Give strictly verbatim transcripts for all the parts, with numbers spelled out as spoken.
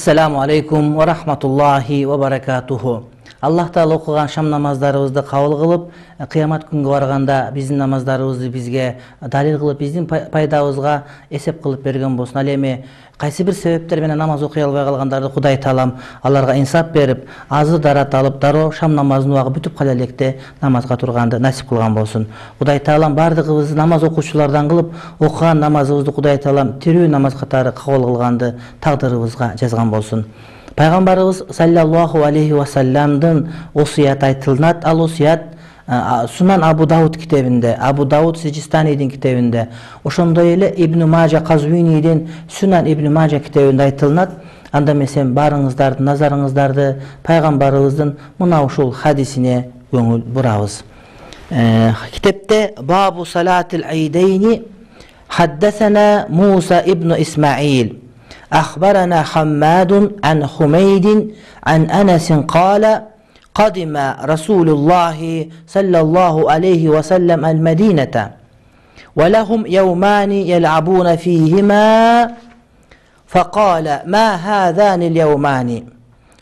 Ассаламу алейкум ва рахматуллахи ва баракатуху. Аллах Таала окуган шам намаздарыбызды кабыл кылып, кыямат күнгө барганда биздин намаздарыбызды бизге далил кылып, биздин пайдабызга эсеп кылып берген болсун. Ал эми кайсы бир себептер менен намаз окуй албай калгандарды Кудай Таалам аларга инсап берип, азыр дарат алып, дароо шам намазын угуп бүтүп кала электе намазга турганды насип кылган болсун. Кудай Таалам бардыгыбызды намаз окуучулардан кылып, окуган намазыбызды Кудай Таалам тирүү намаз катары кабыл кылганды тагдырыбызга жазган болсун. Пайгамбарыбыз саллаллаху алейхи ва салламдын осуят айтылат. Ал осуят Сунан Абу Дауд китебинде, Абу Дауд Сиджистанийдин китебинде, ошондой эле Ибн Мажа Казвинийдин Сунан Ибн Мажа китебинде айтылат. Анда мен барыңыздарды, назарыңыздарды пайгамбарыбыздын мына ушул хадисине көңүл бурабыз. Китепте Бабу салатил айдейни хаддасана Муса ибн Исмаил أخبرنا حماد عن حميد عن أنس قال قدم رسول الله صلى الله عليه وسلم المدينة ولهم يومان يلعبون فيهما فقال ما هذان اليومان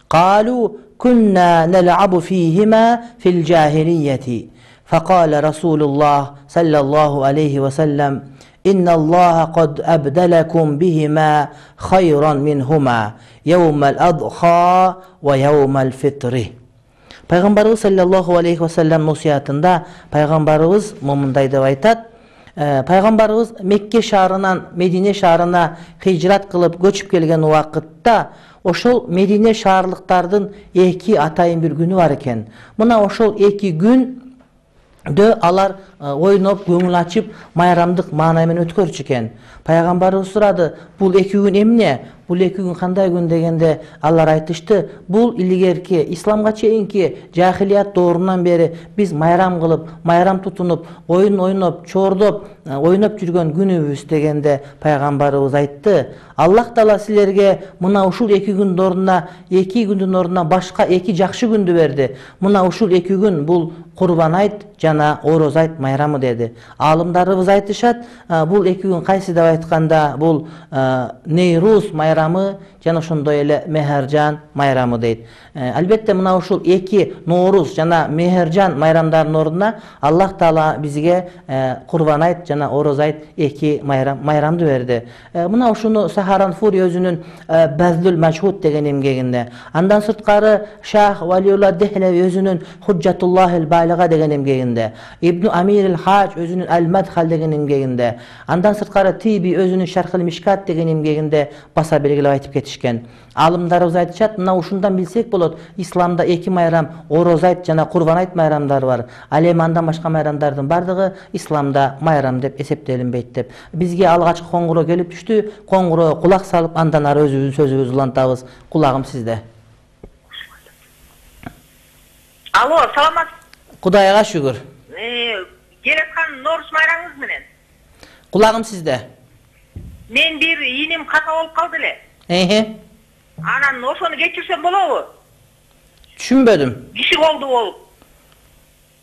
قالوا كنا نلعب فيهما في الجاهلية فقال رسول الله صلى الله عليه وسلم إن الله قد أبدلكم بهما خيرا منهما يوم الأضحى ويوم الفطر. Пайгамбарыбыз саллаллаху алейхи ва саллям носиятында пайгамбарыбыз момундай деп айтат. Пайгамбарыбыз Мекке шаарынан Медине шаарына хижрат кылып көчүп келген убакытта ошол Медине шаарлыктардын эки атайын бир күнү бар экен. Мына ошол эки күн Дө алар ойноп, көңүл ачып, майрамдык маана менен өткөрчү экен. Пайгамбарыбыз сурады, бул эки күн эмне? Бул эки күн кандай күн дегенде алар айтышты, бул илгерки исламга чейинки жахилият доорунан бери биз майрам кылып, майрам тутунуп, оюн ойноп, чордоп, ойноп жүргөн күнүбүз дегенде пайгамбарыбыз айтты, Аллах Таала силерге мына ушул эки күндүн ордуна, эки күндүн ордуна башка эки жакшы күндү берди. Мына ушул эки күн бул Курбан айт жана Ороз айт майрамы деди. Алымдарыбыз айтышат, бул эки күн кайсы деп айтканда бул Нейруз майрамы жана ошондой эле Мехержан майрамы дейт. Албетте мына ушул эки Норуз жана Мехержан майрамдардын ордуна Аллах Таала бизге Курбан айт жана Ороз айт эки майрам майрамды берди. Мына ушуну Сахаран Фури өзүнүн Базлул Машхуд деген эмгегинде, андан сырткары Шах Валиулла Дехлеви өзүнүн Худжатуллахил Балига деген эмгегинде, Ибн Амирил Хадж өзүнүн Ал-Мадхал деген эмгегинде, андан сырткары Тиби өзүнүн Шархил Мишкат деген эмгегинде баса белгилеп айтып кетишкен. Алымдарыбыз айтышат, мына ушундан билсек болот, исламда эки майрам, Ороз айт жана Курбан айт майрамдары бар. Ал эми андан башка майрамдардын бардыгы исламда майрам деп эсептелинбейт деп. Бизге алгачкы коңгуроо келип түштү. Коңгуроо кулак салып, андан ары өзүбүздүн сөзүбүздү улантабыз. Кулагым сизде. Алло, саламат. Кудайга шүгүр. Э, келаткан Норус майрамыңыз менен. Кулагым сизде. Мен бир иним ката болуп калды эле. Эhe. Анан ошону кечирсем болобу? Түшүнбөдүм. Киши болду болуп.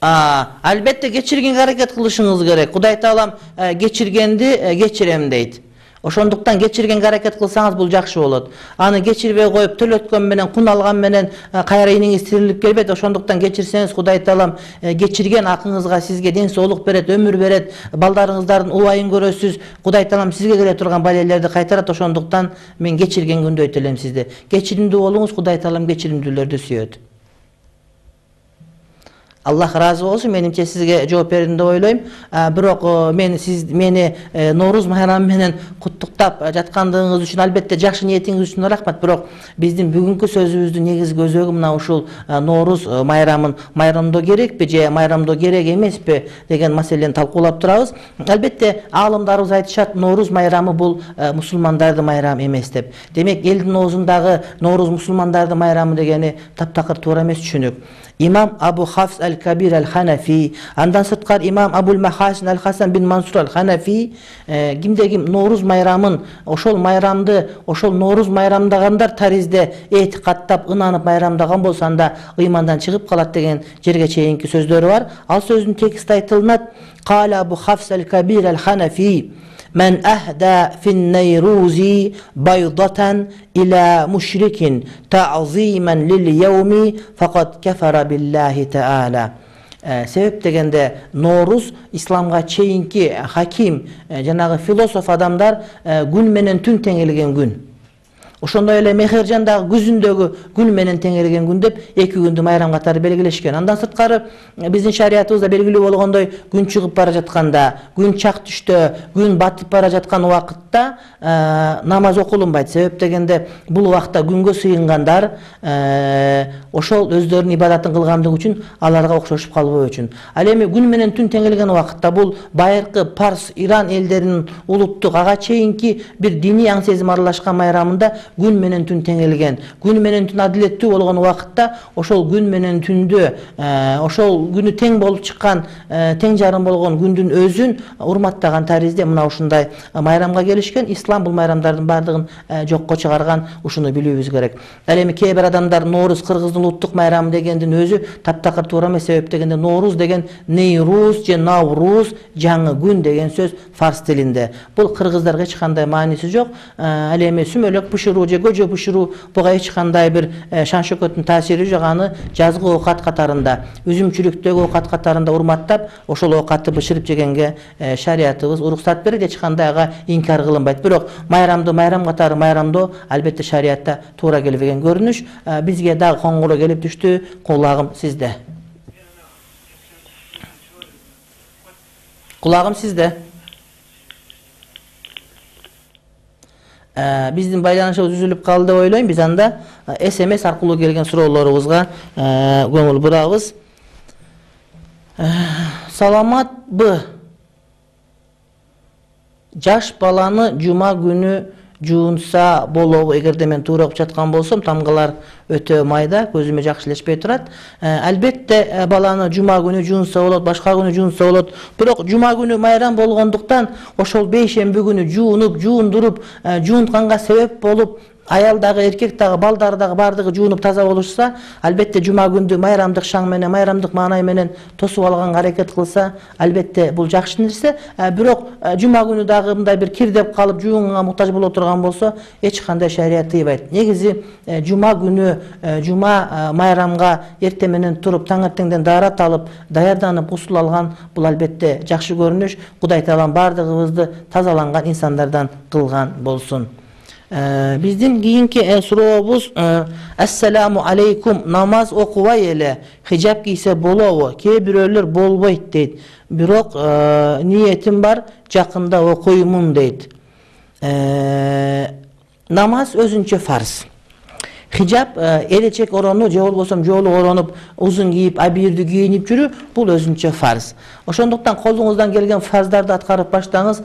А, албетте кечиргенге аракет кылышыңыз керек. Кудай Таалам кечиргенди кечирем дейт. Ошондуктан кечиргенге аракет кылсаңыз бул жакшы болот. Аны кечирбей коюп төлөткөн менен, кун алган менен кайра иниңиз тирилип келбейт. Ошондуктан кечирсеңиз Кудай Таалам кечирген акыңызга сизге ден соолук берет, өмүр берет, балдарыңыздардын убайын көрөсүз. Кудай Таалам сизге келе турган балелерди кайтарат. Ошондуктан мен кечирген күндө өтө элем сизди. Кечиримдүү болуңуз, Кудай Таалам кечиримдүүлөрдү сүйөт. Аллах разы болсун, менимче сизге жооп бердим деп ойлойм. Бирок мен сиз мени Нооруз майрамы менен куттуктап жаткандыгыңыз үчүн, албетте жакшы ниетиңиз үчүн рахмат. Бирок биздин бүгүнкү сөзүбүздүн негизги өзөгү мына ушул Нооруз майрамын майрамдоо керекпи же майрамдоо керек эмеспи деген маселени талкуулап турабыз. Албетте аалымдарыбыз айтышат, Нооруз майрамы бул мусулмандардын майрамы эмес деп. Демек элдин оозундагы Нооруз мусулмандардын майрамы дегени таптакыр туура эмес түшүнүк. Имам Абу Хафс аль-Кабир аль-Ханафи, андан сырткар имам Абул Махасин аль-Хасан бин Мансур аль-Ханафи кимде ким Нооруз майрамын, ошол майрамды, ошол Нооруз майрамдагандар таризде этикаттап, ынанып майрамдаган болсо анда ыймандан чыгып калат деген жерге чейинки сөздөрү бар. Ал сөздүн тексти айтылат: Кала Абу Хафс аль-Кабир аль-Ханафи Men ahda fin neyruzi baydatan ila müşrikin ta'zimen lil yevmi fakat kefara billahi teala. Себеп дегенде Ноорuz исламга чейинки хаким, жанагы философ адамдар күн менен түн теңелген күн. Ошондой эле Мехержандагы күзүндөгү күн менен теңелген күн деп эки күндү майрам катары белгилешкен. Андан сырткары биздин шариятыбызда белгилүү болгондой күн чыгып бара жатканда, күн чак түштө, күн батып бара жаткан убакытта намаз окулунбайт. Себеп дегенде бул убакта күнгө сыйынгандар ошол өздөрүнүн ибадатын кылгандыгы үчүн аларга окшошуп калбоо үчүн. Ал эми күн менен түн теңелген убакытта бул байыркы Парс, Иран элдеринин улуттук ага чейинки бир диний аң сезим аралашкан майрамында күн менен түн теңелген, күн менен түн адилеттүү болгон убакытта ошол күн менен түндү, ошол күнү тең болуп чыккан, тең жарым болгон күндүн өзүн урматтаган таризде мына ушундай майрамга келишкен. Ислам бул майрамдардын бардыгын жокко чыгарган, ушуну билүүбүз керек. Ал эми кээ бир адамдар Ноорuz кыргыздын улуттук майрамы дегендин өзү таптакыр туура эмес. Себеп дегенде Ноорuz деген Нейруз же Навруз, жаңы күн деген сөз фарс тилинде. Бул кыргыздарга эч кандай мааниси жок. Ал эми сүмөлөк бышыруу же көжө бышыруу буга эч кандай бир шан шөкөттүн таасири жок. Аны жазгы оокат катарында, үзүмчүлүктөгү оокат катарында урматтап, ошол оокатты бышырып жегенге шариятыбыз уруксат берет, эч кандай ага инкар кылынбайт. Бирок майрамды майрам катары майрамдоо албетте шариятта туура келбеген көрүнүш. Бизге дагы коңгуроо келип түштү. Кулагым сизде. Кулагым сизде. Биздин байланышыбыз үзүлүп калды деп ойлойм. Биз анда эс эм эс аркылуу келген суроолорубузга көңүл бурабыз. Саламатбы? Жаш баланы жума күнү жуунса болобу? Эгерде мен туура окуп жаткан болсом, тамгалар өтө майда, көзүмө жакшы илешпей турат. Албетте баланы жума күнү жуунса болот, башка күнү жуунса болот. Бирок жума күнү майрам болгондуктан ошол бейшемби күнү жуунуп, жуундуруп, жуунтканга себеп болуп, аял дагы, эркек дагы, балдар дагы бардыгы жуунуп таза болушса, албетте жума күндү майрамдык шаң менен, майрамдык маанай менен тосуп алганга аракет кылса, албетте бул жакшы нерсе. Бирок жума күнү дагы мындай бир кирдеп калып жуунганга муктаж боло турган болсо, эч кандай шарият тыйбайт. Негизи жума күнү, жума майрамга эртең менен туруп, таңертеңден даарат алып, даярданып, гусул алган бул албетте жакшы көрүнүш. Кудай таалам бардыгыбызды тазаланган инсандардан кылган болсун. Биздин кийинки сурообуз: Ассаламу алейкум, намаз окубай эле хижаб кийсе болобу? Кээ бирөөлөр болбойт дейт. Бирок ниетим бар, жакында окуймун дейт. Намаз өзүнчө фарз. Хижаб элечек орону же болбосо жоолук оронуп, узун кийип, абийирдүү кийинип жүрүү бул өзүнчө фарз. Ошондуктан колуңуздан келген фарздарды аткарып баштаңыз.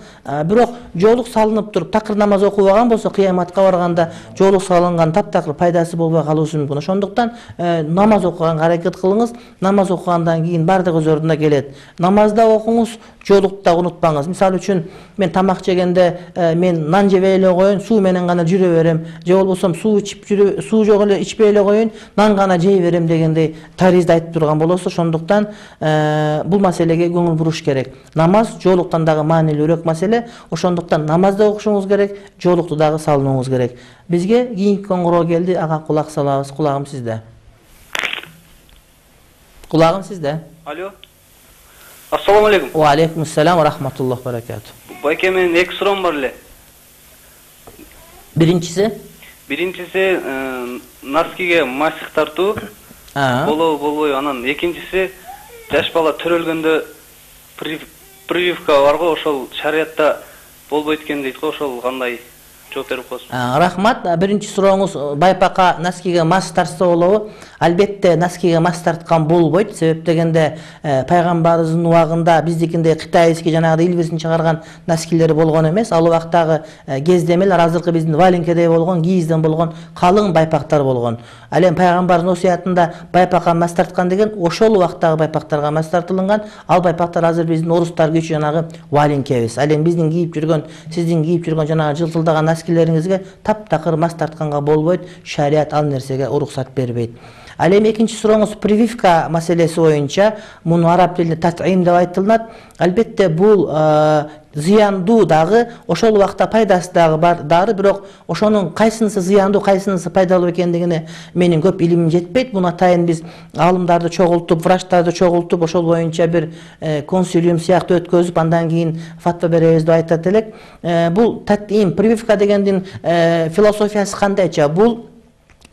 Бирок жоолук салынып туруп, такыр намаз окубаган болсо, кыяматка барганда жоолук салынган таптакыр пайдасы болбой калуусу мүмкүн. Ошондуктан намаз окуганга аракет кылыңыз. Намаз окугандан кийин бардыгы өз ордуна келет. Намазда окуңуз, жоолукту да унутпаңыз. Мисалы үчүн мен тамак жегенде мен нан жебей эле коеюн, суу менен гана жүрө берем. Же болбосо суу ичип жүрүп, суу жок эле ичпей эле коеюн, нан гана жей берем дегендей таризди айтып турган болосо, ошондуктан бул маселеге көңүл буруш керек. Намаз жоолуктан дагы маанилүүрөөк маселе. Ошондуктан намазды окушуңуз керек, жоолукту дагы салынууңуз керек. Бизге кийинки коңгуроо келди, ага кулак салабыз. Кулагым сизде. Кулагым сизде. Алло. Ассаламу алейкум. Ва алейкум ассалам ва рахматуллахи ва баракату. Байке, менин эки суроом бар эле. Биринчиси? Биринчиси носкиге масих тартуу болобу болбойбу? Анан экинчиси жаш бала төрөлгөндө прививка бар го, ошол шариятта болбойт экен дейт го, ошол кандай жооп берип коесуз? Рахмат. Биринчи сурооңуз байпака носкиге мас тартса болобу? Албетте носкиге мас тарткан болбойт. Себеп дегенде пайгамбарыбыздын убагында биздикиндей кытайский жанагы илбирсин чыгарган носкилер болгон эмес. Ал убактагы кездемелер азыркы биздин валенкедей болгон, кийизден болгон калың байпактар болгон. Ал эми пайгамбардын осуятында байпакка мас тарткан деген ошол убактагы байпактарга мас тартылган. Ал байпактар азыр биздин орустар кийүүчү жанагы валенкебиз. Ал эми биздин кийип жүргөн, сиздин кийип жүргөн жанагы жылтылдаган носкилериңизге таптакыр мас тартканга болбойт. Шарият ал нерсеге уруксат бербейт. Ал эми экинчи сурооңуз прививка маселеси боюнча, муну араб тилинде тат'им деп айтылат. Албетте бул зыяндуу дагы, ошол убакта пайдасы дагы бар дары, бирок ошонун кайсынысы зыяндуу, кайсынысы пайдалуу экендигине менин көп илимим жетпейт. Муну атайын биз алымдарды чогултуп, врачтарды чогултуп, ошол боюнча бир консилиум сыяктуу өткөзүп, андан кийин фатва беребиз деп айтат элек. Бул тат'им, прививка дегендин философиясы кандайча? Бул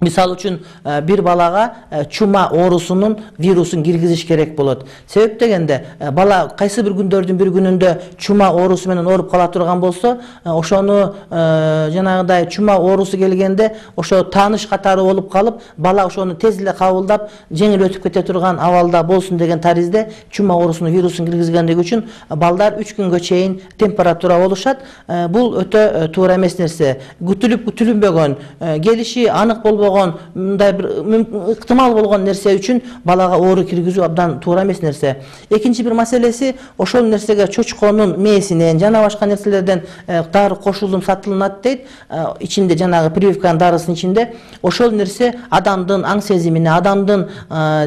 мисалы үчүн бир балага чума оорусунун вирусун киргизиш керек болот. Себеп дегенде, бала кайсы бир күндөрдүн бир күнүндө чума оорусу менен ооруп кала турган болсо, ошону жанагыдай чума оорусу келгенде ошо тааныш катары болуп калып, бала ошону тез эле кабылдап, жеңил өтүп кете турган абалда болсун деген таризде чума оорусунун вирусун киргизгендиги үчүн балдар үч күнгө чейин температура болушат. Бул өтө туура эмес нерсе. Күтүлүп күтүлүнбөгөн, келиши анык болбогон, мындай бир ыктымал болгон нерсе үчүн балага оору киргизүү абдан туура эмес нерсе. Экинчи бир маселеси, ошол нерсеге чочконун мээсинен жана башка нерселерден дары кошулуп сатылынат дейт. Ичинде жанагы прививканын дарысынын ичинде ошол нерсе адамдын аң сезимине, адамдын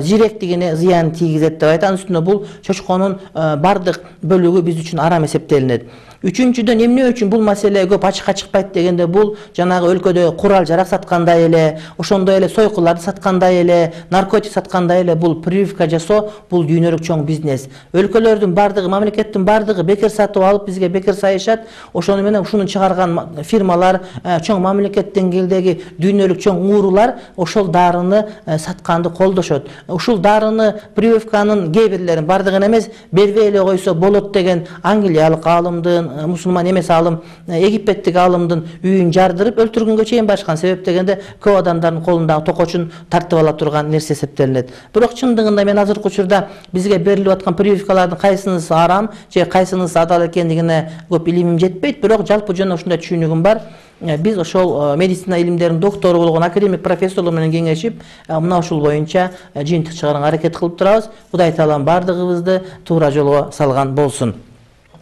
зиректигине зыян тийгизет деп айтат. Анын үстүнө бул чочконун бардык бөлүгү биз үчүн арам эсептелинет. Үчүнчүдөн эмне үчүн бул маселе көп ачыкка чыкпайт дегенде, бул жанагы өлкөдө курал жарак саткандай эле, ошондой эле сойкуларды саткандай эле, наркотик саткандай эле бул прививка жасоо бул дүйнөлүк чоң бизнес. Өлкөлөрдүн бардыгы, мамлекеттин бардыгы бекер сатып алып, бизге бекер сайышат. Ошону менен ушуну чыгарган фирмалар, чоң мамлекет деңгээлдеги дүйнөлүк чоң уурулар ошол дарыны сатканды колдошот. Ушул дарыны, прививканын кээ бирлерин, бардыгын эмес, бербей эле койсо болот деген англиялык аалымдын, мусулман эмес аалым, египеттик аалымдын үйүн жардырып өлтүргөнгө чейин башкан. Себеп дегенде көп адамдардын колундагы токочун тартып ала турган нерсе эсептелинет. Бирок чындыгында мен азыркы учурда бизге берилип аткан прививкалардын кайсынысы арам же кайсынысы адал экендигине көп илимим жетпейт. Бирок жалпы жана ушундай түшүнүгүм бар. Биз ошол медицина илимдеринин доктору болгон академик профессорлор менен кеңешип, мына ушул боюнча жыйынтык чыгарганга аракет кылып турабыз. Кудай таалам бардыгыбызды туура жолго салган болсун.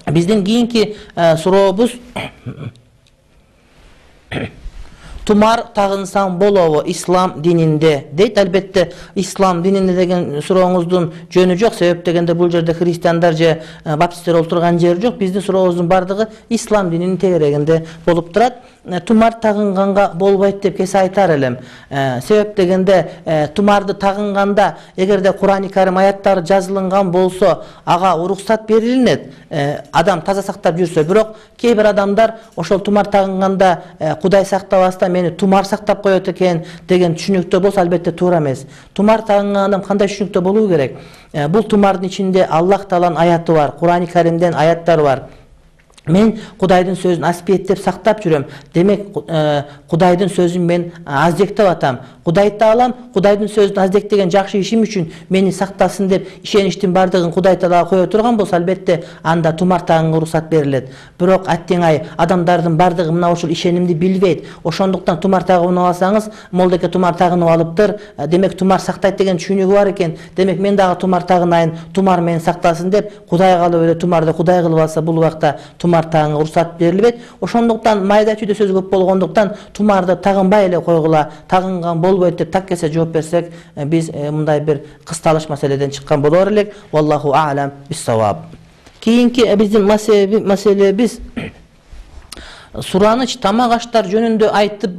Биздин кийинки сурообуз: тумар тагынсам болобу ислам дининде дейт. Албетте ислам дининде деген сурооңуздун жөнү жок. Себеп дегенде бул жерде христиандар же баптисттер олтурган жери жок. Биздин сурообуздун бардыгы ислам дининин тегерегинде болуп турат. Тумар тагынганга болбойт деп кесе айтар элем. Себеп дегенде тумарды тагынганда эгерде Кур'ан-ы Карим аяттары жазылынган болсо, ага уруксат берилинет, адам таза сактап жүрсө. Бирок кээ бир адамдар ошол тумар тагынганда Кудай сактабастан мени тумар сактап коет экен деген түшүнүктө болсо, албетте туура эмес. Тумар тагынган адам кандай түшүнүктө болуу керек? Бул тумардын ичинде Аллах Тааланын аяты бар, Кур'ан-ы Каримден аяттар бар. Мен Кудайдын сөзүн аспиеттеп сактап жүрөм. Демек, Кудайдын сөзүн мен аздектеп атам. Кудай Таалам Кудайдын сөзүн аздектеген жакшы ишим үчүн мени сактасын деп ишеништин бардыгын Кудай Таалага кое турган болсо, албетте анда тумар тагынга уруксат берилет. Бирок аттең-ай адамдардын бардыгы мына ушул ишенимди билбейт. Ошондуктан тумар тагынып алсаңыз, молдеке тумар тагынып алыптыр, демек тумар сактайт деген түшүнүгү бар экен. Демек мен дагы тумар тагынайын, тумар мени сактасын деп Кудай калып эле тумарды Кудай кылып алса, бул убакта тумар тагынга уруксат берилбейт. Ошондуктан майда чүйдө сөз көп болгондуктан тумарды тагынбай эле койгула, тагынган болбойт деп так кесе жооп берсек, биз мындай бир кысталыш маселеден чыккан болор элек. Валлаху а'лам бис-саваб. Кийинки биздин маселебиз сураныч тамак аштар жөнүндө айтып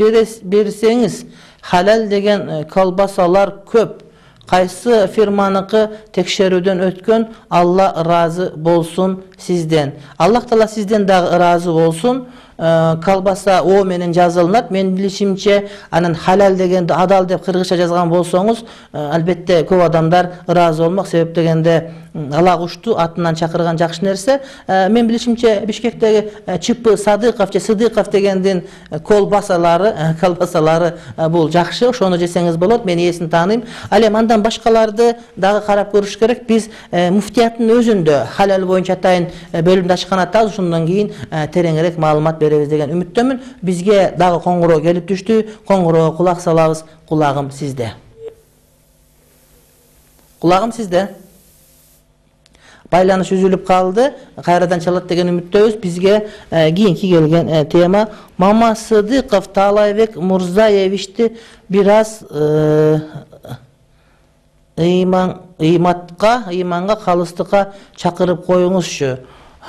берсеңиз. Халал деген колбасалар көп. Кайсы фирманыкы текшерүүдөн өткөн? Алла ыраазы болсун сизден. Аллах Таала сизден дагы ыраазы болсун. Колбаса о менен жазылынат. Мен билишимче, анан халал дегенди адал деп кыргызча жазган болсоңуз, албетте көп адамдар ыраазы болмок. Себеп дегенде ала кушту атынан чакырган жакшы нерсе. Мен билишимче, Бишкектеги Чипы Садыков же Сыдыков дегендин колбасалары, колбасалары бул жакшы. Ошону жесеңиз болот. Мен эсин тааныйм. Ал эми андан башкаларды дагы карап көрүш керек. Биз муфтияттын өзүндө халал боюнча атайын бөлүмдү ачкан атабыз. Ошондон кийин тереңирээк маалымат беребиз деген үмүттөмүн. Бизге дагы коңгуроо келип түштү. Коңгуроого кулак салабыз. Кулагым сизде. Кулагым сизде. Байланыш үзүлүп калды. Кайрадан чалат деген үмүттөбүз. Бизге кийинки келген тема Мама Сыдыков Таалайбек Мурзаевичти бир аз ыйман ыйматка, ыйманга, калыстыкка чакырып коюңузчу.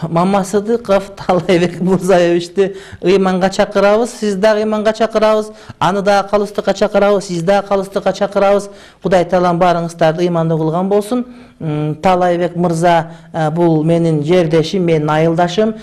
Мамасыдыков Талайбек Мурзаевичти ыйманга чакырабыз, сиз дагы ыйманга чакырабыз, аны дагы калыстыкка чакырабыз, сиз дагы калыстыкка чакырабыз. Кудай Таалам барыңыздарды ыймандуу кылган болсун. Талайбек мырза бул менин жердешим, менин айылдашым.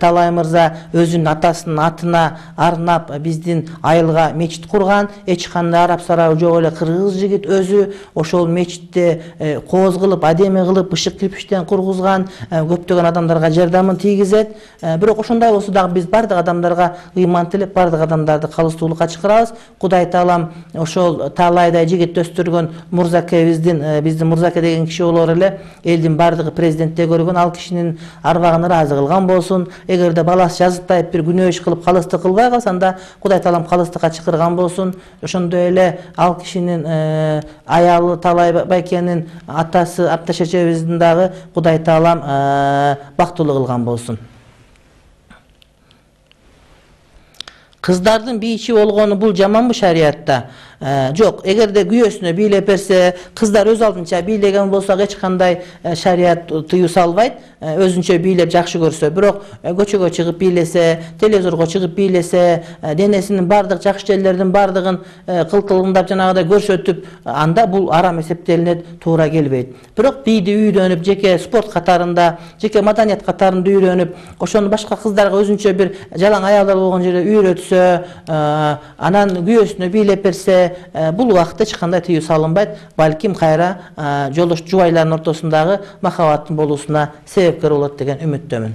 Талай мырза өзүнүн атасынын атына арнап биздин айылга мечит курган. Эч кандай араб сарабы жок эле кыргыз жигит өзү ошол мечитти кооз кылып, адеми кылып, ышык кирпичтен кургузган, көптөгөн адамдарга жардамын тийгизет. Бирок ошондой болсо дагы биз бардык адамдарга ыйман тилеп, бардык адамдарды калыстуулукка чакырабыз. Кудай Таалам ошол талайдай жигит өстүргөн Мурзакебиздин, биздин Мурзаке деген киши болор эле, элдин бардыгы президентте көргөн, ал кишинин арбагына ыраазы кылган болсун. Эгерде баласы жазытпайып бир күнөө иш кылып калыстык кылбай калса, анда Кудай Таалам калыстыкка чакырган болсун. Ошондой эле ал кишинин аялы Талай байкенин атасы Апташ эчебиздин дагы Кудай Таалам бактылуу кылган болсун. Кыздардын бийчи болгону бул жаманбы шариятта? Жок, эгерде күйөөсүнө бийлеп берсе, кыздар өз алдынча бийлеген болсо эч кандай шарият тыюу салбайт. Өзүнчө бийлеп жакшы көрсө, бирок көчөгө чыгып бийлесе, телевизорго чыгып бийлесе, денесинин бардык жакшы жерлердин бардыгын кылтылындап жанагыдай көрсөтүп, анда бул арам эсептелинет, туура келбейт. Бирок бийди үйрөнүп, жеке спорт катарында, жеке маданият катарында үйрөнүп, ошону башка кыздарга өзүнчө бир жалаң аялдар болгон жерде үйрөтсө, анан күйөөсүнө бийлеп берсе, бул убакытта эч кандай тыюу салынбайт. Балким кайра жолдош жубайлардын ортосундагы махабаттын болуусуна себепкер болот деген үмүттөмүн.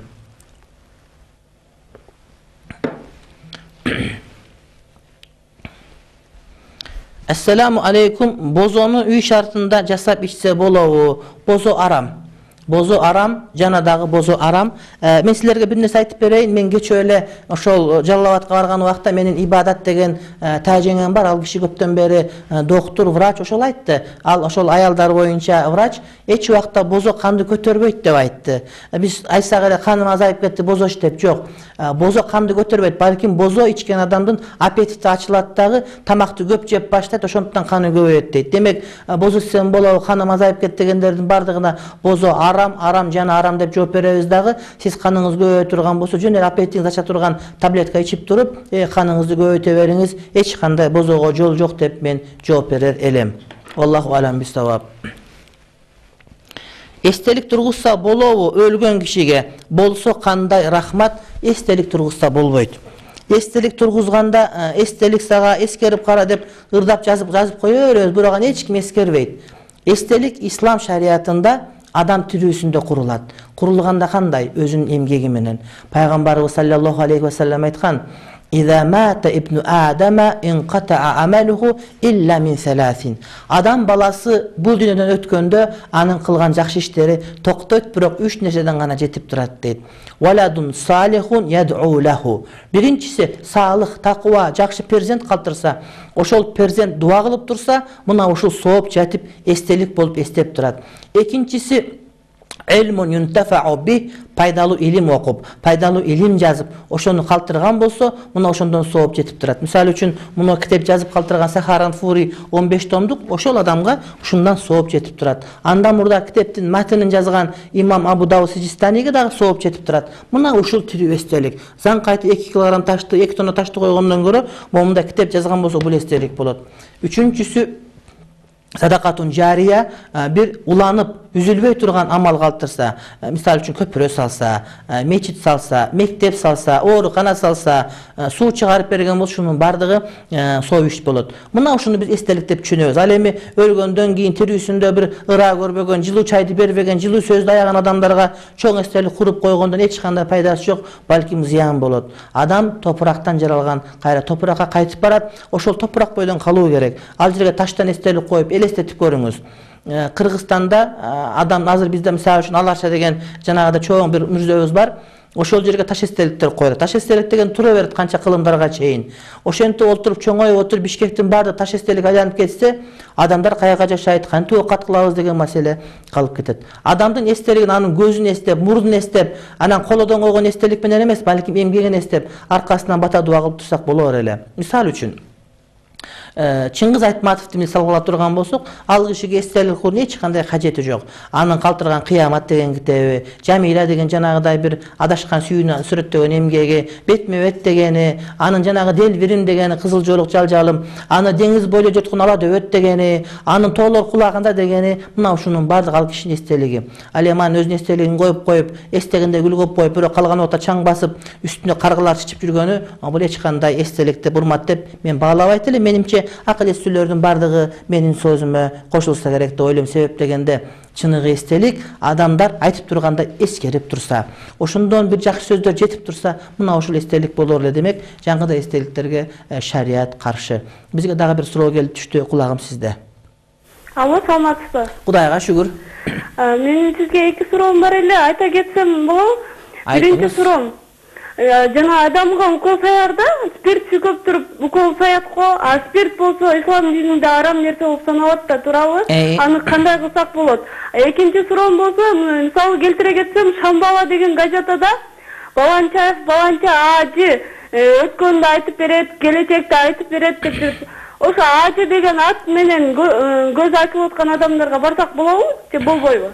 Ассаламу алейкум. Бозону үй шартында жасап ичсе болобу? Бозо арам. Бозо арам, жана дагы бозо арам. Мен силерге бир нерсе айтып берейин. Мен кечөө эле ошол Жалал Абадка барган убакта менин Ибадат деген тажеңем бар. Ал киши көптөн бери доктур, врач, ошол айтты. Ал ошол аялдар боюнча врач эч убакта бозо канды көтөрбөйт деп айтты. Биз айтсак эле каным азайып кетти, бозо ич деп, жок. Бозо канды көтөрбөйт, балким бозо ичкен адамдын аппетити ачылат дагы, тамакты көп жеп баштайт, ошондуктан каны көбөйөт дейт. Демек, бозо ичсем болобу, каным азайып кетти дегендердин бардыгына бозо арам, арам жана арам деп жооп беребиз дагы. Сиз каныңыз көбөйө турган болсо, жөн эле аппетитиңиз ача турган таблетка ичип туруп, каныңызды көбөйтө бериңиз, эч кандай бозого жол жок деп мен жооп берер элем. Аллаху алам бис-саваб. Эстелик тургузса болобу өлгөн кишиге? Болсо кандай рахмат, эстелик тургузса болбойт. Эстелик тургузганда эстелик сага эскерип кара деп ырдап жазып жазып кое беребиз, бирок аны эч ким эскербейт. Эстелик ислам шариятында адам тирүүсүндө курулат. Курулганда кандай? Өзүнүн эмгеги менен. Пайгамбарыбыз саллаллаху алейхи ва саллям айткан: «Иза мата ибну Адама инқатаа амалуху илля мин саласин». Адам баласы бул дүйнөдөн өткөндө анын кылган жакшы иштери токтойт, бирок үч нерседен гана жетип турат дейт. Валадун салихун яд'у лаху. Биринчиси салых, таква, жакшы перзент калтырса, ошол перзент дуа кылып турса, мына ушул сооп жатып эстелик болуп эстеп турат. Экинчиси элмун юнтафау би, пайдалуу илим окуп, пайдалуу илим жазып, ошону калтырган болсо, мына ошондон сооп жетип турат. Мисалы үчүн, муну китеп жазып калтырган Сахаран Фури он беш томдук, ошол адамга ушундан сооп жетип турат. Андан мурда китептин матынын жазган имам Абу Дауд Сижистаниге дагы сооп жетип турат. Мына ушул тирүү эстелик. Заң кайты эки килограмм ташты, эки тонна ташты койгондон көрө, момундай китеп жазган болсо бул эстелик болот. Үчүнчүсү садакатун жария, бир уланып үзүлбөй турган амал калтырса, мисалы үчүн көпүрө салса, мечит салса, мектеп салса, оорукана салса, суу чыгарып берген болсо, шунун бардыгы соо иш болот. Мына ушуну биз эстелик деп түшүнөбүз. Ал эми өлгөндөн кийин тирүүсүндө бир ыраа көрбөгөн, жылуу чайды бербеген, жылуу сөздү аяган адамдарга чоң эстелик куруп койгондон эч кандай пайдасы жок, балким зыян болот. Адам топурактан жаралган, кайра топуракка кайтып барат, ошол топурак бойдон калуу керек. Ал жерге таштан эстелик коюп элестетип көрүңүз. Кыргызстанда адам азыр бизде мисалы үчүн Аларша деген жанагыда чоң бир мүрзөбүз бар. Ошол жерге таш эстеликтер коёт. Таш эстелик деген тура берет канча кылымдарга чейин. Ошентип олтуруп чоңоюп отуруп Бишкектин баардыгы таш эстелик айланып кетсе, адамдар каяка жашайт, кантип оокат кылабыз деген маселе калып кетет. Адамдын эстелигин анын көзүн эстеп, мурдун эстеп, анан колодон койгон эстелик менен эмес, балким эмгегин эстеп, аркасынан бата дуа кылып турсак болор эле. Мисалы үчүн Чыңгыз Айтматовду мисал кыла турган болсок, ал кишиге эстелик кылуунун эч кандай кажети жок. Анын калтырган Кыямат деген китеби, Жамила деген жанагыдай бир адашкан сүйүүнү сүрөттөгөн эмгеги, Бетме бет дегени, анын жанагы Делбирим дегени, Кызыл жоолук жалжалым, аны Деңиз бойлой жоткон ала дөбөт дегени, анын Тоолор кулагында дегени, мына ушунун баардыгы ал кишинин эстелиги. Ал эми анын өзүнүн эстелигин коюп коюп, эстегенде күлгөп коюп, бирок калган убакта чаң басып, үстүнө каргылар чычып жүргөнү, бул эч кандай эстеликти урмат деп мен баалабайт элем. Менимче акыл эстүүлөрдүн бардыгы менин сөзүмө кошулса керек деп ойлойм. Себеп дегенде чыныгы эстелик адамдар айтып турганда эскерип турса, ошондон бир жакшы сөздөр жетип турса, мына ушул эстелик болор эле. Демек, жаңгыдай эстеликтерге шарият каршы. Бизге дагы бир суроо келип түштү, кулагым сизде. Алло, саламатсызбы? Кудайга шүгүр. Менин сизге эки суроом бар эле, айта кетсем болобу? Биринчи суроом. Жана адамга укол саярда спирт көп туруп укол саят го, а спирт болсо ислам дининде арам нерсе болуп саналат да, туурабы? Аны кандай кылсак болот? Экинчи суроом болсо, мисалы келтире кетсем, Шамбала деген газетада Баланчаев баланча ажы өткөндө айтып берет, келечекте айтып берет деп. Ошо ажы деген ат менен көз ачылып аткан адамдарга барсак болобу же болбойбу?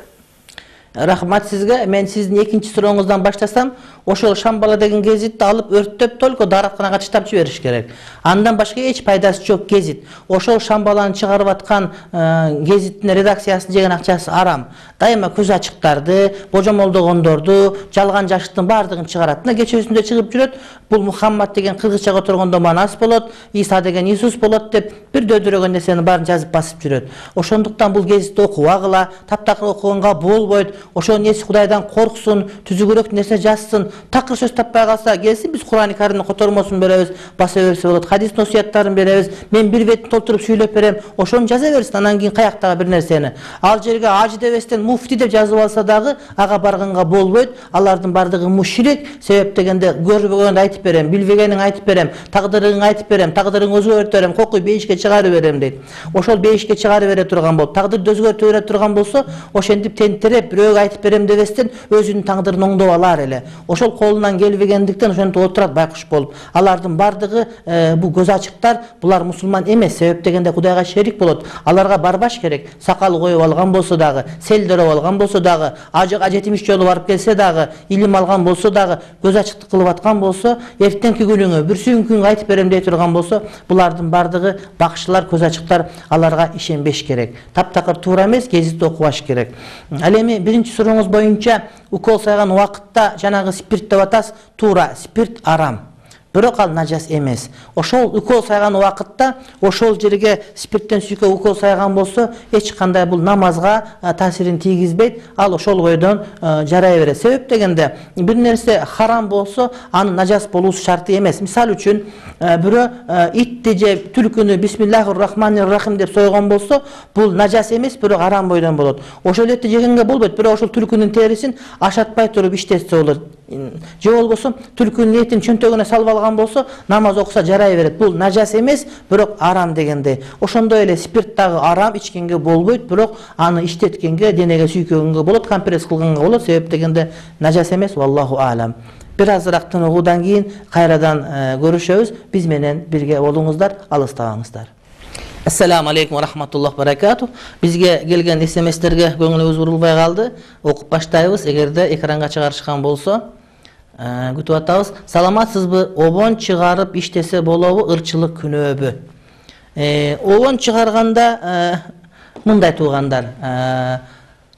Рахмат сизге. Мен сиздин экинчи сурооңуздан баштасам, ошол Шамбала деген гезитти алып өрттөп только дааратканага чыштап жибериш керек. Андан башка эч пайдасы жок гезит. Ошол Шамбаланы чыгарып аткан гезиттин редакциясын жеген акчасы арам. Дайыма көз ачыктарды, божомолдогондорду, жалган жаштын баардыгын чыгарат. Мына кечөөсүндө чыгып жүрөт, бул Мухаммад деген кыргызчага тургондо Манас болот, Иса деген Иисус болот деп бир дөдөрөгөн нерсени баарын жазып басып жүрөт. Ошондуктан бул гезитти окубагыла, таптакыр окуганга болбойт. Ошол нерсе Кудайдан корксун, түзүгүрөөк нерсе жазсын. Такыр сөз таппай калса, келсин биз Кур'ан-ы Каримдин котормосун беребиз, баса берсе болот. Хадис насыяттарын беребиз. Мен бир бетин толтуруп сүйлөп берем. Ошону жаза берсин, анан кийин каяктагы бир нерсени. Ал жерге ажы дебестен муфти деп жазып алса дагы ага барганга болбойт. Алардын бардыгы мушрик. Себеп дегенде көрбөгөндү айтып берем, билбегениңди айтып берем, тагдырыңды айтып берем, тагдырыңды өзгөртүп берем, кокуй бейишке чыгарып берем дейт. Ошол бейишке чыгарып бере турган болуп, тагдырды өзгөртүп бере турган болсо, ошентип тентиреп бирөөгө айтып берем дебестен өзүнүн тагдырын оңдоп алар эле. Ошол колунан келбегендиктен ошентип отурат байкуш болуп. Алардын бардыгы бул көз ачыктар, булар мусулман эмес. Себеп дегенде Кудайга шерик болот. Аларга барбаш керек. Сакал коюп алган болсо дагы, селдөрөп алган болсо дагы, ажыга жетимиш жолу барып келсе дагы, илим алган болсо дагы, көз ачыктык кылып аткан болсо, эртеңки күнүңө бир сүйүн күнгө айтып берем дей турган болсо, булардын бардыгы бакшылар, көз ачыктар, аларга ишенбеш керек. Таптакыр туура эмес, гезитти окубаш керек. Ал эми биринчи сурооңуз боюнча укол сайган убакытта жанагы спирт деп атасыз, туура, спирт арам. Бирок ал нажас эмес. Ошол укол сайган убакытта ошол жерге спирттен сүйкө укол сайган болсо, эч кандай бул намазга таасирин тийгизбейт. Ал ошол бойдон жарай берет. Себеп дегенде бир нерсе харам болсо, анын нажас болуусу шарт эмес. Мисалы үчүн, бирөө итти же түлкүнү бисмиллахир-рахманир-рахим деп сойгон болсо, бул нажас эмес, бирок арам бойдон болот. Ошол этти жегенге болбойт, бирок ошол түлкүнүн терисин ашатпай туруп иштетсе болот. Же болбосо түлкүнүн этин чөнтөгүнө салып алган болсо, намаз окуса жарай берет. Бул нажас эмес, бирок арам дегенде. Ошондой эле спирт дагы арам, ичкенге болбойт, бирок аны иштеткенге, денеге сүйкөгөнгө болот, компресс кылганга болот. Себеп дегенде нажас эмес, валлаху аалам. Бир азыраак тыныгуудан кийин кайрадан көрүшөбүз. Биз менен бирге болуңуздар, алыстабаңыздар. Ассаламу алейкум ва рахматуллахи ва баракатух. Бизге келген эс эм эстерге көңүлүбүз бурулбай калды. Окуп баштайбыз. Эгерде экранга чыгарышкан болсо, күтүп атабыз. Саламатсызбы? Обон чыгарып иштесе болобу, ырчылык күнөөбү? Обон чыгарганда мындай туугандар,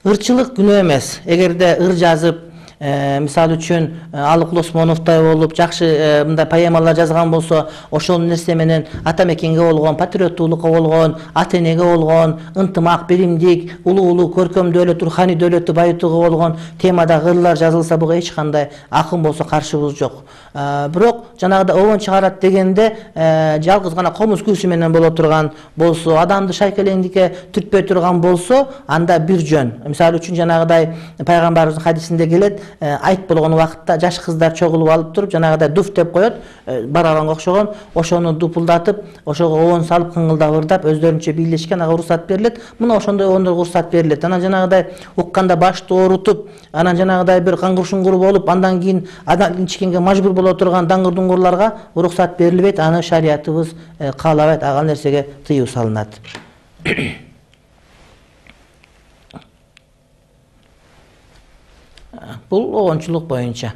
ырчылык күнөө эмес. Эгерде ыр жазып, мисалы үчүн Алык Лосмоновдай болуп, жакшы мындай поэмалар жазган болсо, ошол нерсе менен ата мекенге болгон, патриоттуулукка болгон, ата энеге болгон, ынтымак, биримдик, улуу-улуу көркөм дөөлөт, руханий дөөлөттү байытууга болгон темада ырлар жазылса, буга эч кандай акын болсо каршыбыз жок. Бирок жанагыда обон чыгарат дегенде жалгыз гана комуз күүсү менен боло турган болсо, адамды шайкелеңдикке түртпөй турган болсо, анда бир жөн. Мисалы үчүн жанагыдай пайгамбарыбыздын хадисинде келет, айт болгон убакытта жаш кыздар чогулуп алып туруп жанагыдай дуф деп коет, барабанга окшогон, ошону дупулдатып, ошого оон салып кыңгылдап ырдап өздөрүнчө бийлешкен, ага уруксат берилет. Мына ошондой оондорго уруксат берилет. Анан жанагыдай укканда башты оорутуп, анан жанагыдай бир каңгыр-шуңгур болуп, андан кийин адам ичкенге мажбур боло турган даңгыр-дуңгурларга уруксат берилбейт. Аны шариятыбыз каалабайт, ага нерсеге тыюу салынат. Бул оончулук боюнча.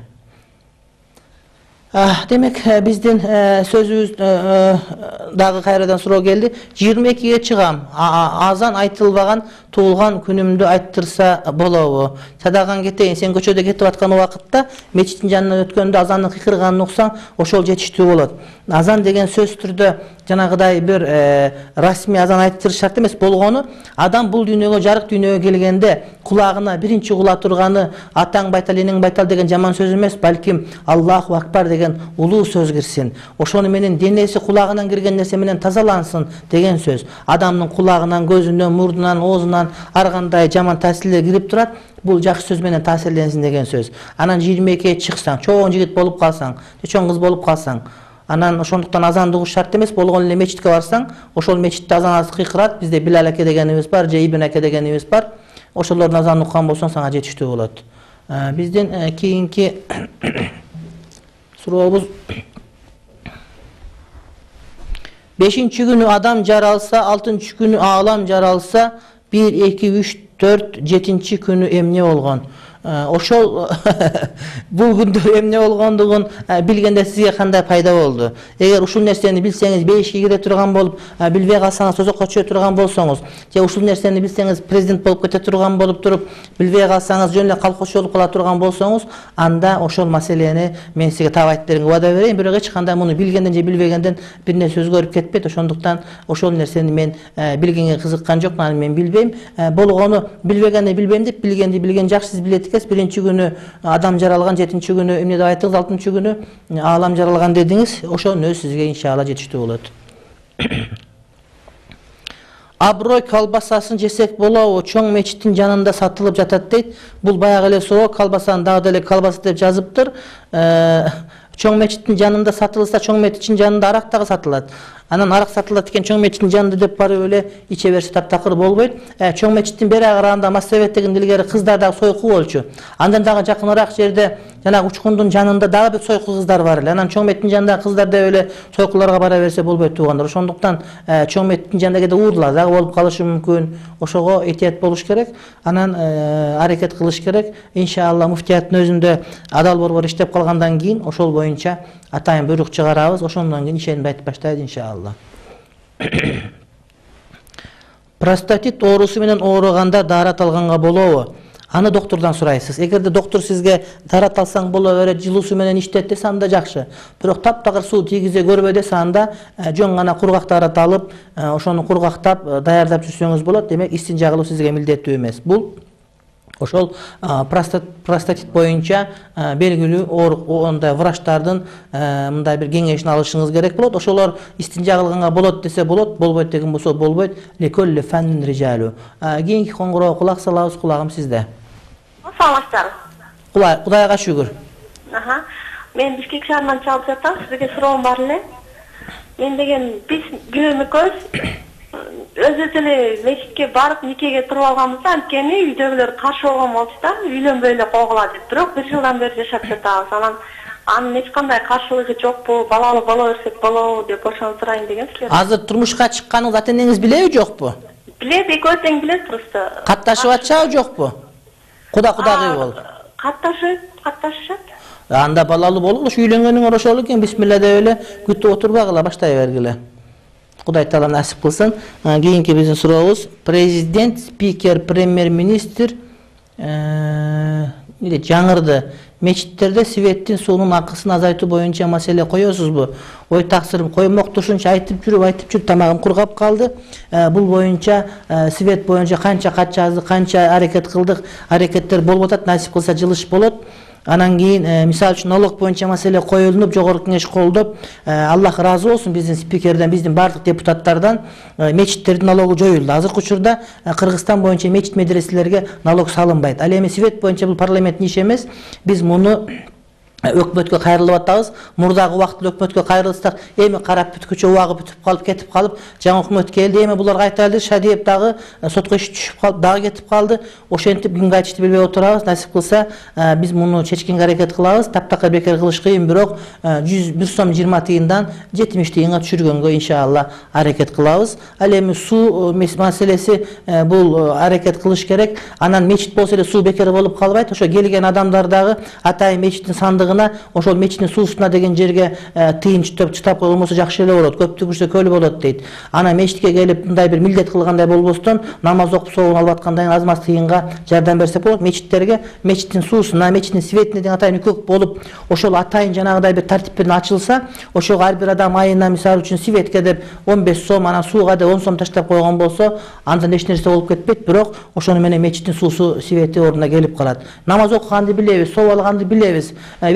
Демек, биздин сөзүбүз дагы кайрадан суроо келди. жыйырма экиге чыгам. Азан айтылбаган туулган күнүмдү айттырса болобу? Садаган кетейин, сен көчөдө кетип аткан убакытта мечиттин жанынан өткөндө азандын кыйкырганын уксаң, ошол жетиштүү болот. Азан деген сөз түрдө жанагыдай бир расмий азан айттырыш шарт эмес болгону, адам бул дүйнөгө, жарык дүйнөгө келгенде кулагына биринчи кула турганы атаң байтал, энең байтал деген жаман сөз эмес, балким Аллаху акбар деген улуу сөз кирсин. Ошону менен денеси кулагынан кирген нерсе менен тазалансын деген сөз. Адамдын кулагынан, көзүнөн, мурдунан, оозунан ар кандай жаман таасирлер кирип турат. Бул жакшы сөз менен таасирленсин деген сөз. Анан жыйырма экиге чыксаң, чоң жигит болуп калсаң, чоң кыз болуп калсаң, анан ошондуктан азанды угуш шарт эмес, болгон эле мечитке барсаң, ошол мечитте азан кыйкырат. Бизде Билал аке дегенибиз бар, же Ибн аке дегенибиз бар. Ошолордун азанын уккан болсоң, сага жетиштүү болот. Биздин кийинки сурообуз: бешинчи күнү адам жаралса, алтынчы күнү аалам жаралса, бир, эки, үч, төрт, жетинчи күнү эмне болгон? Ошол бул күндө эмне болгондугун билгенде сизге кандай пайда болду? Эгер ушул нерсени билсеңиз, бешке кире турган болуп, билбей калсаңыз, тозокко чыга турган болсоңуз, же ушул нерсени билсеңиз, президент болуп кете турган болуп туруп, билбей калсаңыз, жөн эле колхозчу болуп кала турган болсоңуз, анда ошол маселени мен сизге таап айтып берүүгө убада берейин. Бирок эч кандай муну билгенден же билбегенден бир нерсе өзгөрүп кетпейт. Ошондуктан ошол нерсени мен билгенге кызыккан жокмун, аны мен билбейм. Болгону билбегенди билбейм деп, билгенди билген жакшы, сиз билет. Биринчи күнү адам жаралган, жетинчи күнү эмне деп айттыңыз, алтынчы күнү аалам жаралган дедиңиз. Ошонун өзү сизге иншалла жетиштүү болот. Аброй колбасасын жесек болобу? Чоң мечиттин жанында сатылып жатат дейт. Бул баягы эле суроо, колбасаны дагы деле колбаса деп жазыптыр. Чоң мечиттин жанында сатылса, чоң мечиттин жанында арак дагы сатылат. Анан арак сатылат экен, чоң мечиттин жанында деп барып эле иче берсе таптакыр болбойт. Чоң мечиттин бери караганда Моссовет деген илгери кыздар дагы сойку болчу. Андан дагы жакыныраак жерде жана учкундун жанында дагы бир сойку кыздар бар эле. Анан чоң мечиттин жанындагы кыздар деп эле сойкуларга бара берсе болбойт туугандар. Ошондуктан чоң мечиттин жанында кээде уурдулар дагы болуп калышы мүмкүн. Ошого этият болуш керек. Анан аракет кылыш керек. Иншалла муфтияттын өзүндө адал борбор иштеп калгандан кийин ошол боюнча атайын буйрук чыгарабыз. Ошондон кийин ишенip айтып баштайт иншалла. Простатит оорусу менен ооруганда даарат алганга болобу? Аны доктордон сурайсыз. Эгерде доктор сизге даарат алсаң боло берет, жылуу суу менен иштет десе, анда жакшы. Бирок таптакыр суу тийгизе көрбө десе, анда жөн гана кургак даарат алып, ошону кургактап даярдап жүрсөңүз болот. Демек, истин жагылуу сизге милдеттүү эмес. Бул ошол простатит боюнча белгилүү ондай врачтардын мындай бир кеңешин алышыңыз керек болот. Ошолор истин жагылганга болот десе болот, болбойт деген болсо болбойт. Леколле фанн рижалу. Кийинки коңгуроого кулак салабыз, кулагым сизде. Саламатсыздарбы? Кудайга шүгүр. Аха. Мен Бишкек шаарынан чалып жатам. Сизге суроом бар эле. Мен деген биз күнөөмүкөз өзү эле мечитке барып никеге туруп алганбыз, анткени үйдөгүлөр каршы болгон болчу да, үйлөнбөй эле койгула деп. Бирок бир жылдан бери жашап жатабыз. Анан анын эч кандай каршылыгы жокпу, балалы боло берсек болобу деп ошону сурайын деген силер. Азыр турмушка чыкканыңыз ата энеңиз билеби жокпу? Билет, экөө тең билет просто. Катташып атчабы жокпу? Куда кудагый болуп? Катташып, катташышат. Анда балалы болгуш, үйлөнгөнүңөр ошол экен, бисмилла деп эле күтүп отурбагыла, баштай бергиле. Кудай таала насип кылсын. Кийинки биздин сурообуз: президент, спикер, премьер-министр эле жаңырды. Мечиттерде светтин суунун акысын азайтуу боюнча маселе коесузбу? Ой таксырым, коймок тушунча айтып жүрүп, айтып жүрүп тамагым кургап калды. Бул боюнча свет боюнча канча кат жаздык, канча аракет кылдык, аракеттер болуп атат. Насип кылса жылыш болот. Анан кийин мисалы үчүн налог боюнча маселе коюлуп, жогорку кеңеш колдоп, Аллах ыраазы болсун биздин спикерден, биздин бардык депутаттардан мечиттердин налогу жоюлду. Азыркы учурда Кыргызстан боюнча мечит медреселерге налог салынбайт. Ал эми свет боюнча бул парламенттин иши эмес. Биз муну өкмөткө кайрылып атабыз. Мурдагы убакытта өкмөткө кайрылсак, эми карап бүткүчө убагы бүтүп калып кетип калып, жаңы өкмөт келди, эми буларга айтайлы, Шадиев дагы сотко иш түшүп калып, дагы кетип калды. Ошентип кимге айтышты билбей отурабыз. Насип кылса, биз муну чечкенге аракет кылабыз. Таптакыр бекер кылыш кыйын, бирок жүз бир сом жыйырма тыйындан жетимиш тыйынга түшүргөнгө иншалла аракет кылабыз. Ал эми суу маселеси бул аракет кылыш керек. Анан мечит болсо эле суу бекер болуп калбайт. Ошо келген адамдар дагы атайын мечиттин сандыгы ошол мечиттин суусуна деген жерге тыйын чытап чытап койгонбосо жакшы эле болот. Көптү күрсө көл болот дейт. Ана мечитке келип мындай бир милдет кылгандай болбостон, намаз окуп соогун алып аткандан кийин аз-маз тыйынга жардам берсек болот. Мечиттерге мечиттин суусуна, мечиттин светине деген атайын үкөк болуп, ошол атайын жанагыдай бир тартип менен ачылса, ошого ар бир адам айына мисалы үчүн светке деп он беш сом, анан сууга деп он сом таштап койгон болсо, андан эч нерсе болуп кетпейт, бирок ошону менен мечиттин суусу, свети ордуна келип калат. Намаз окуганды билебиз, соо алганды билебиз.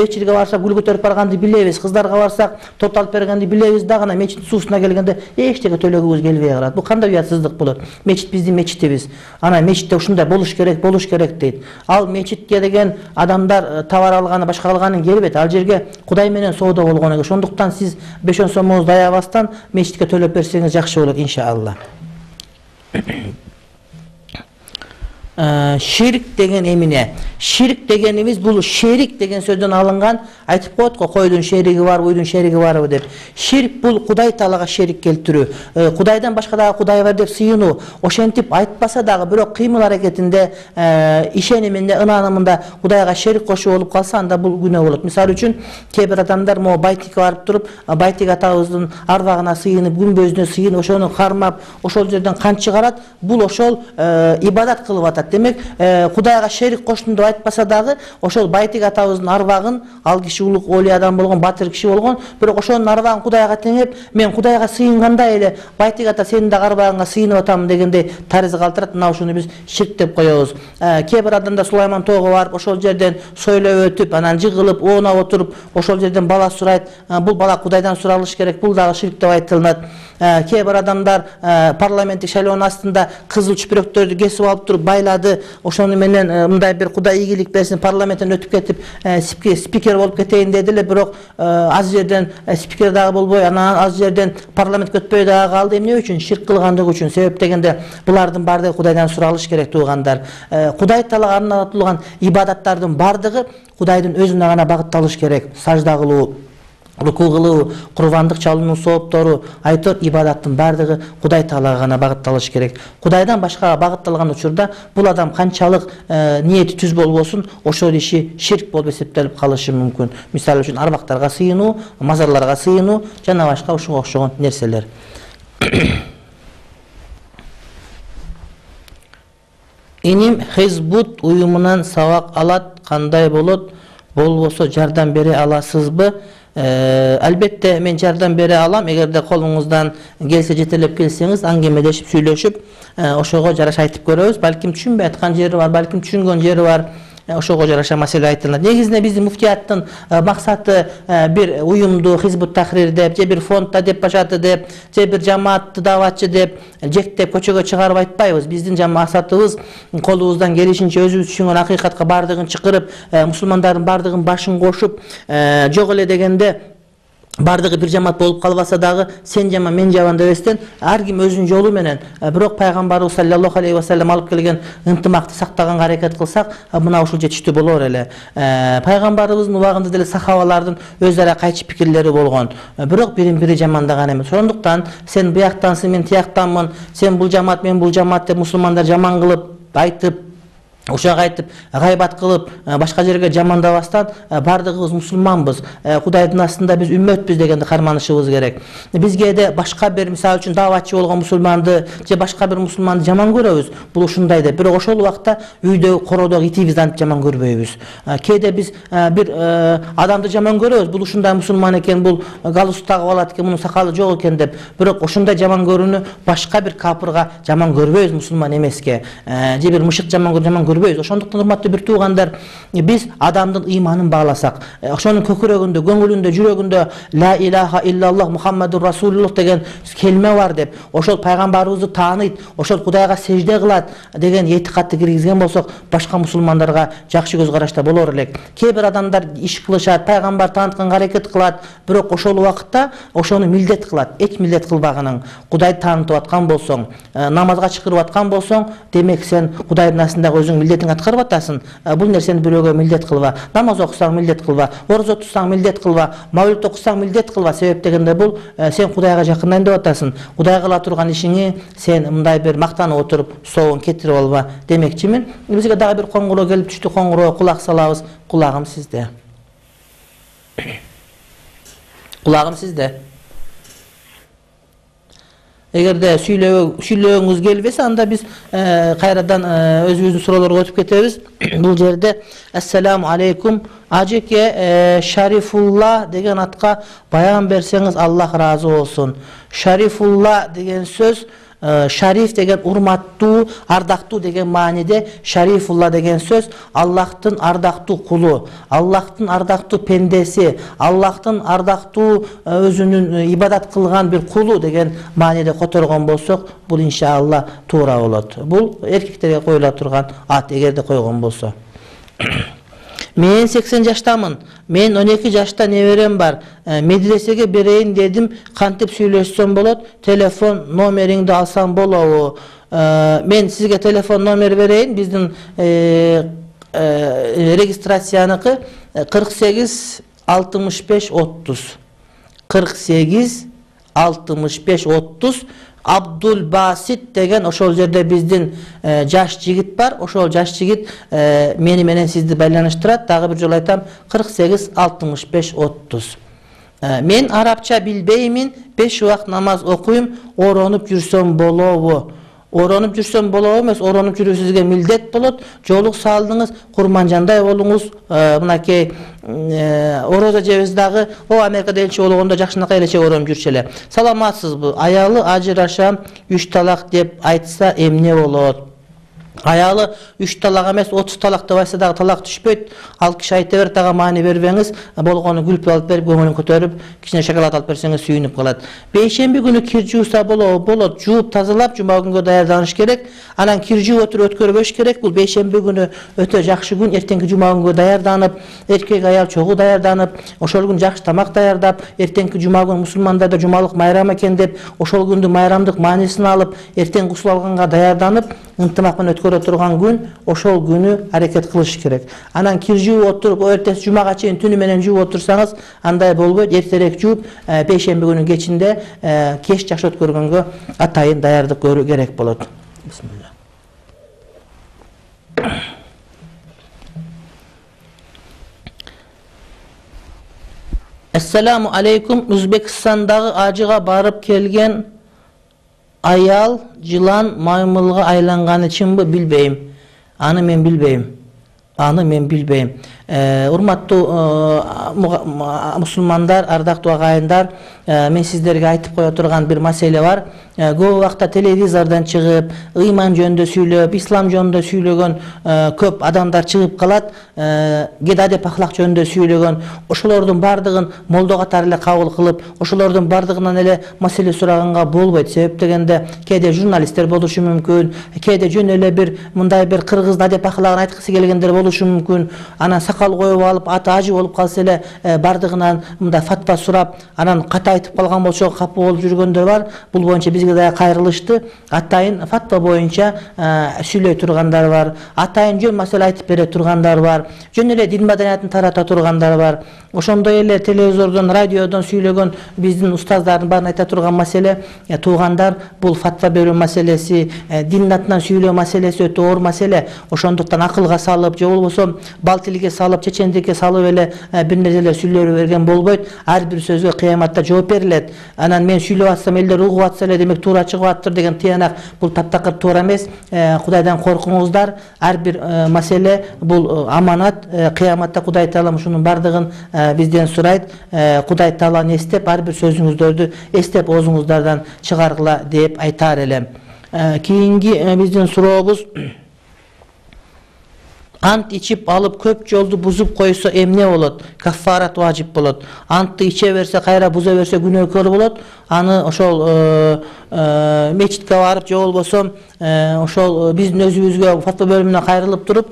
Вечерге барсак гүл көтөрүп барганды билебиз, кыздарга барсак торт алып бергенди билебиз дагы, ана мечиттин суусуна келгенде эчтеке төлөгүбүз келбей калат. Бул кандай уятсыздык болот? Мечит биздин мечитибиз. Ана мечитте ушундай болуш керек, болуш керек дейт. Ал мечитке деген адамдар товар алганы, башка алганын келбейт. Ал жерге Кудай менен соода болгон экен. Ошондуктан сиз беш он сомуңузду аябастан мечитке төлөп берсеңиз жакшы болот иншалла. Ширк деген эмне? Ширк дегенибиз бул шерик деген сөздөн алынган. Айтып коет го, койдун шериги бар, уйдун шериги барбы деп. Ширк бул Кудай Таалага шерик келтирүү, Кудайдан башка дагы Кудай бар деп сыйынуу. Ошентип айтпаса дагы бирок кыймыл аракетинде, ишениминде, ынанымында Кудайга шерик кошуу болуп калса, анда бул күнөө болот. Мисалы үчүн кээ бир адамдар могу Байтикке барып туруп, Байтик атабыздын арбагына сыйынып, күмбөзүнө сыйынып, ошону кармап, ошол жерден кан чыгарат. Бул ошол ибадат кылып атат. Демек, Кудайга шерик коштум деп айтпаса дагы, ошол Байтик атабыздын арбагын, ал киши улук оли адам болгон, батыр киши болгон, бирок ошонун арбагын Кудайга теңеп, мен Кудайга сыйынгандай эле Байтик ата сенин дагы арбагыңа сыйынып атам дегендей тарыз калтырат. Мына ушуну биз ширк деп коебуз. Кээ бир адамдар Сулайман тоого барып, ошол жерден сойлоп өтүп, анан жыгылып, оонап отуруп, ошол жерден бала сурайт. Бул бала Кудайдан суралыш керек, бул дагы ширк деп айтылат. Кээ бир адамдар парламенттик шайлоонун астында кызыл чүпүрөктөрдү кесип алып туруп байлады. Ошону менен мындай бир Кудай ийгилик берсин, парламенттен өтүп кетип спикер болуп кетейин деди эле, бирок аз жерден спикер дагы болбой, анан аз жерден парламентке өтпөй дагы калды. Эмне үчүн? Ширк кылгандыгы үчүн. Себеп дегенде булардын баардыгы Кудайдан суралыш керек туугандар. Кудай Таалага арналтылган ибадаттардын баардыгы Кудайдын өзүнө гана багытталыш керек. Сажда кылуу, руку кылуу, курбандык чалуунун сооптору, айтор ибадаттын баардыгы Кудай Таалага гана багытталыш керек. Кудайдан башкага багытталган учурда бул адам канчалык ниети түз болбосун, ошол иши ширк болуп эсептелип калышы мүмкүн. Мисалы үчүн арбактарга сыйынуу, мазарларга сыйынуу жана башка ушуга окшогон нерселер. Иним Хизбут уюмунан сабак алат, кандай болот? Болбосо жардам бере аласызбы? Албетте мен жардам бере алам. Эгерде колуңуздан келсе, жетелеп келсеңиз, аңгемелешип, сүйлөшүп, ошого жараша айтып көрөбүз. Балким түшүнбөй аткан жери бар, балким түшүнгөн жери бар. Ошого жараша маселе айтылат. Негизинде биздин муфтияттын максаты бир уюмду Хизбут Тахрир деп, же бир фондда деп башаты деп, же бир жамаатты даватчы деп жектеп көчөгө чыгарып айтпайбыз. Биздин максатыбыз колубуздан келишинче өзүбүз түшүнгөн акыйкатка баардыгын чакырып, мусулмандардын баардыгын башын кошуп, жок эле дегенде бардыгы бир жамаат болуп калбаса дагы сен жаман мен жаман дебестен ар ким өзүнүн жолу менен, бирок пайгамбарыбыз саллаллаху алейхи ва саллям алып келген ынтымакты сактаганга аракет кылсак, мына ушул жетиштүү болор эле. Пайгамбарыбыздын убагында деле сахабалардын өз ара кайчы пикирлери болгон, бирок бирин бири жамандаган эмес. Ошондуктан сен бияктансың, мен тияктанмын, сен бул жамаат, мен бул жамаат деп мусулмандар жаман кылып айтып, ушак айтып, гайбат кылып, башка жерге жамандабастан бардыгыбыз мусулманбыз. Кудайдын астында биз үммөтпүз дегенди карманышыбыз керек. Бизге де башка бир, мисалы үчүн даватчы болгон мусулманды же башка бир мусулманды жаман көрөбүз. Бул ушундай деп. Бирок ошол убакта үйдө, кородо итибизди антип жаман көрбөйбүз. Кээде биз бир адамды жаман көрөбүз. Бул ушундай мусулман экен, бул галстук тагып алат экен, мунун сакалы жок экен деп. Бирок ошундай жаман көрүүнү башка бир капырга жаман көрбөйбүз, мусулман эмеске. Же бир мышык жаман көрүп жаман көрбөйбүз. Ошондуктан урматтуу бир туугандар, биз адамдын ыйманын бааласак, ошонун көкүрөгүндө, көңүлүндө, жүрөгүндө ла илаха иллаллах Мухаммадур Расулуллах деген келме бар деп, ошол пайгамбарыбызды тааныйт, ошол Кудайга сежде кылат деген этикатты киргизген болсок, башка мусулмандарга жакшы көз карашта болор элек. Кээ бир адамдар иш кылышат, пайгамбар таанытканга аракет кылат, бирок ошол убакытта ошону милдет кылат. Эч милдет кылбагының. Кудайды таанытып аткан болсоң, намазга чакырып аткан болсоң, демек сен Кудайдын астындагы өзүң милдетиңди аткарып атасың. Бул нерсени бирөөгө милдет кылба. Намаз окусаң милдет кылба, оруз тутсаң милдет кылба, мавлид окусаң милдет кылба. Себеп дегенде бул сен Кудайга жакындайм деп атасың. Кудай кыла турган ишиңи сен мындай бир мактанып отуруп, соогун кетирип алба демекчимин. Бизге дагы бир коңгуроо келип түштү, коңгуроого кулак салабыз. Кулагым сизде. Кулагым сизде. Эгерде сүйлөгүңүз келбесе, анда биз кайрадан өзүбүздүн суроолорго өтүп кетебиз. Бул жерде ассаламу алейкум ажеке, Шарифулла деген атка баян берсеңиз Аллах ыраазы болсун. Шарифулла деген сөз, шариф деген урматтуу, ардактуу деген мааниде, Шарифулла деген сөз Аллахтын ардактуу кулу, Аллахтын ардактуу пендеси, Аллахтын ардактуу өзүнүн ибадат кылган бир кулу деген мааниде которгон болсок, бул иншалла туура болот. Бул эркектерге коюла турган ат, эгерде койгон болсо. Мен сексен жаштамын. Мен он эки жашта неберем бар. Медресеге берейин дедим. Кантип сүйлөшсөм болот? Телефон номериңди алсам болобу? Мен сизге телефон номер берейин. Биздин регистрацияныкы кырк сегиз алтымыш беш отуз. кырк сегиз алтымыш беш отуз. Абдул Басит деген ошол жерде биздин жаш жигит бар. Ошол жаш жигит мени менен сизди байланыштырат. Дагы бир жолу айтам, кырк сегиз алтымыш беш отуз. Мен арабча билбеймин, беш убак намаз окуйм, оронуп жүрсөм болобу? Оронуп жүрсөм болобу эмес, оронуп жүрүү сизге милдет болот. Жолук салдыңыз, курманжандай болуңуз. Мынакей ороза жебиз дагы, о Америкада элчи болгондо жакшынакай эле оронуп жүрчү эле. Саламатсызбы? Аялы ажырашам, үч талак деп айтса эмне болот? Аялы үч талак эмес, отуз талак деп айтса дагы талак түшпөйт. Ал киши айта берет, ага маани бербеңиз, болгону күлүп алып берип, көңүлүн көтөрүп, кичине шоколад алып берсеңиз сүйүнүп калат. Бейшемби күнү кир жууса болобу? Болот. Жууп тазалап, жума күнгө даярданыш керек. Анан кир жууп отуруп өткөрбөш керек. Бул бейшемби күнү өтө жакшы күн. Эртеңки жума күнгө даярданып, эркек аял чогуу даярданып, ошол күн жакшы тамак даярдап, эртеңки жума күнү мусулмандарда жумалык майрам экен деп, ошол күндүн майрамдык маанисин алып, эртең гусул алганга даярданып, ынтымак менен өткөрө турган күн, ошол күнү аракет кылыш керек. Анан кир жууп отуруп, эртеси жумага чейин түнү менен жууп отурсаңыз, андай болбойт. Эртерээк жууп, бейшемби күнү кечинде кеч жакшы өткөргөнгө атайын даярдык көрүү керек болот. Бисмилла. Ассаламу алейкум. Өзбекстандагы ажыга барып келген аял жылан маймылга айланганы чынбы, билбейм. Аны мен билбейм. Аны мен билбейм. Урматтуу мусулмандар, ардактуу агайындар, мен сиздерге айтып кое турган бир маселе бар. Көп убакта телевизордон чыгып, ыйман жөнүндө сүйлөп, ислам жөнүндө сүйлөгөн көп адамдар чыгып калат. Кеде адеп ахлак жөнүндө сүйлөгөн, ошолордун бардыгын молдо катары эле кабыл кылып, ошолордун бардыгынан эле маселе сураганга болбойт. Себеп дегенде кээде журналисттер болушу мүмкүн, кээде жөн эле бир мындай бир кыргыздын адеп ахлагын айткысы келгендер болушу мүмкүн. Анан сакал коюп алып, аты ажы болуп калса эле бардыгынан мындай фатва сурап, анан ката айтып калган болчу капы болуп жүргөндөр бар. Бул боюнча бизге да кайрылышты. Атайын фатва боюнча сүйлөй тургандар бар. Атайын жөн маселе айтып бере тургандар бар. Жөн эле дин маданиятын тарата тургандар бар. Ошондой эле телевизордон, радиодон сүйлөгөн биздин устаздардын баарын айта турган маселе, туугандар, бул фатва берүү маселеси, дин атынан сүйлөө маселеси өтө оор маселе. Ошондуктан акылга салып, же болбосо бал тилге салып, чечендикке салып эле бир нерселер сүйлөп берген болбойт. Ар бир сөзгө кыяматта жооп берилет. Анан мен сүйлөп атсам элдер угуп атса эле демек туура чыгып аттыр деген тыянак, бул таптакыр туура эмес. Кудайдан коркуңуздар. Ар бир маселе бул аманат. Кыяматта Кудай Таала ушунун бардыгын бизден сурайт. Кудай Тааланы эстеп, ар бир сөзүңүздөрдү эстеп оозуңуздардан чыгаргыла деп айтар элем. Кийинки биздин сурообуз Ант ичип алып көп жолду бузуп койсо эмне болот? Каффарат важип болот. Антты иче берсе, кайра буза берсе күнөөкөр болот. Аны ошол мечитке барып же болбосо ошол биздин өзүбүзгө фатва бөлүмүнө кайрылып туруп,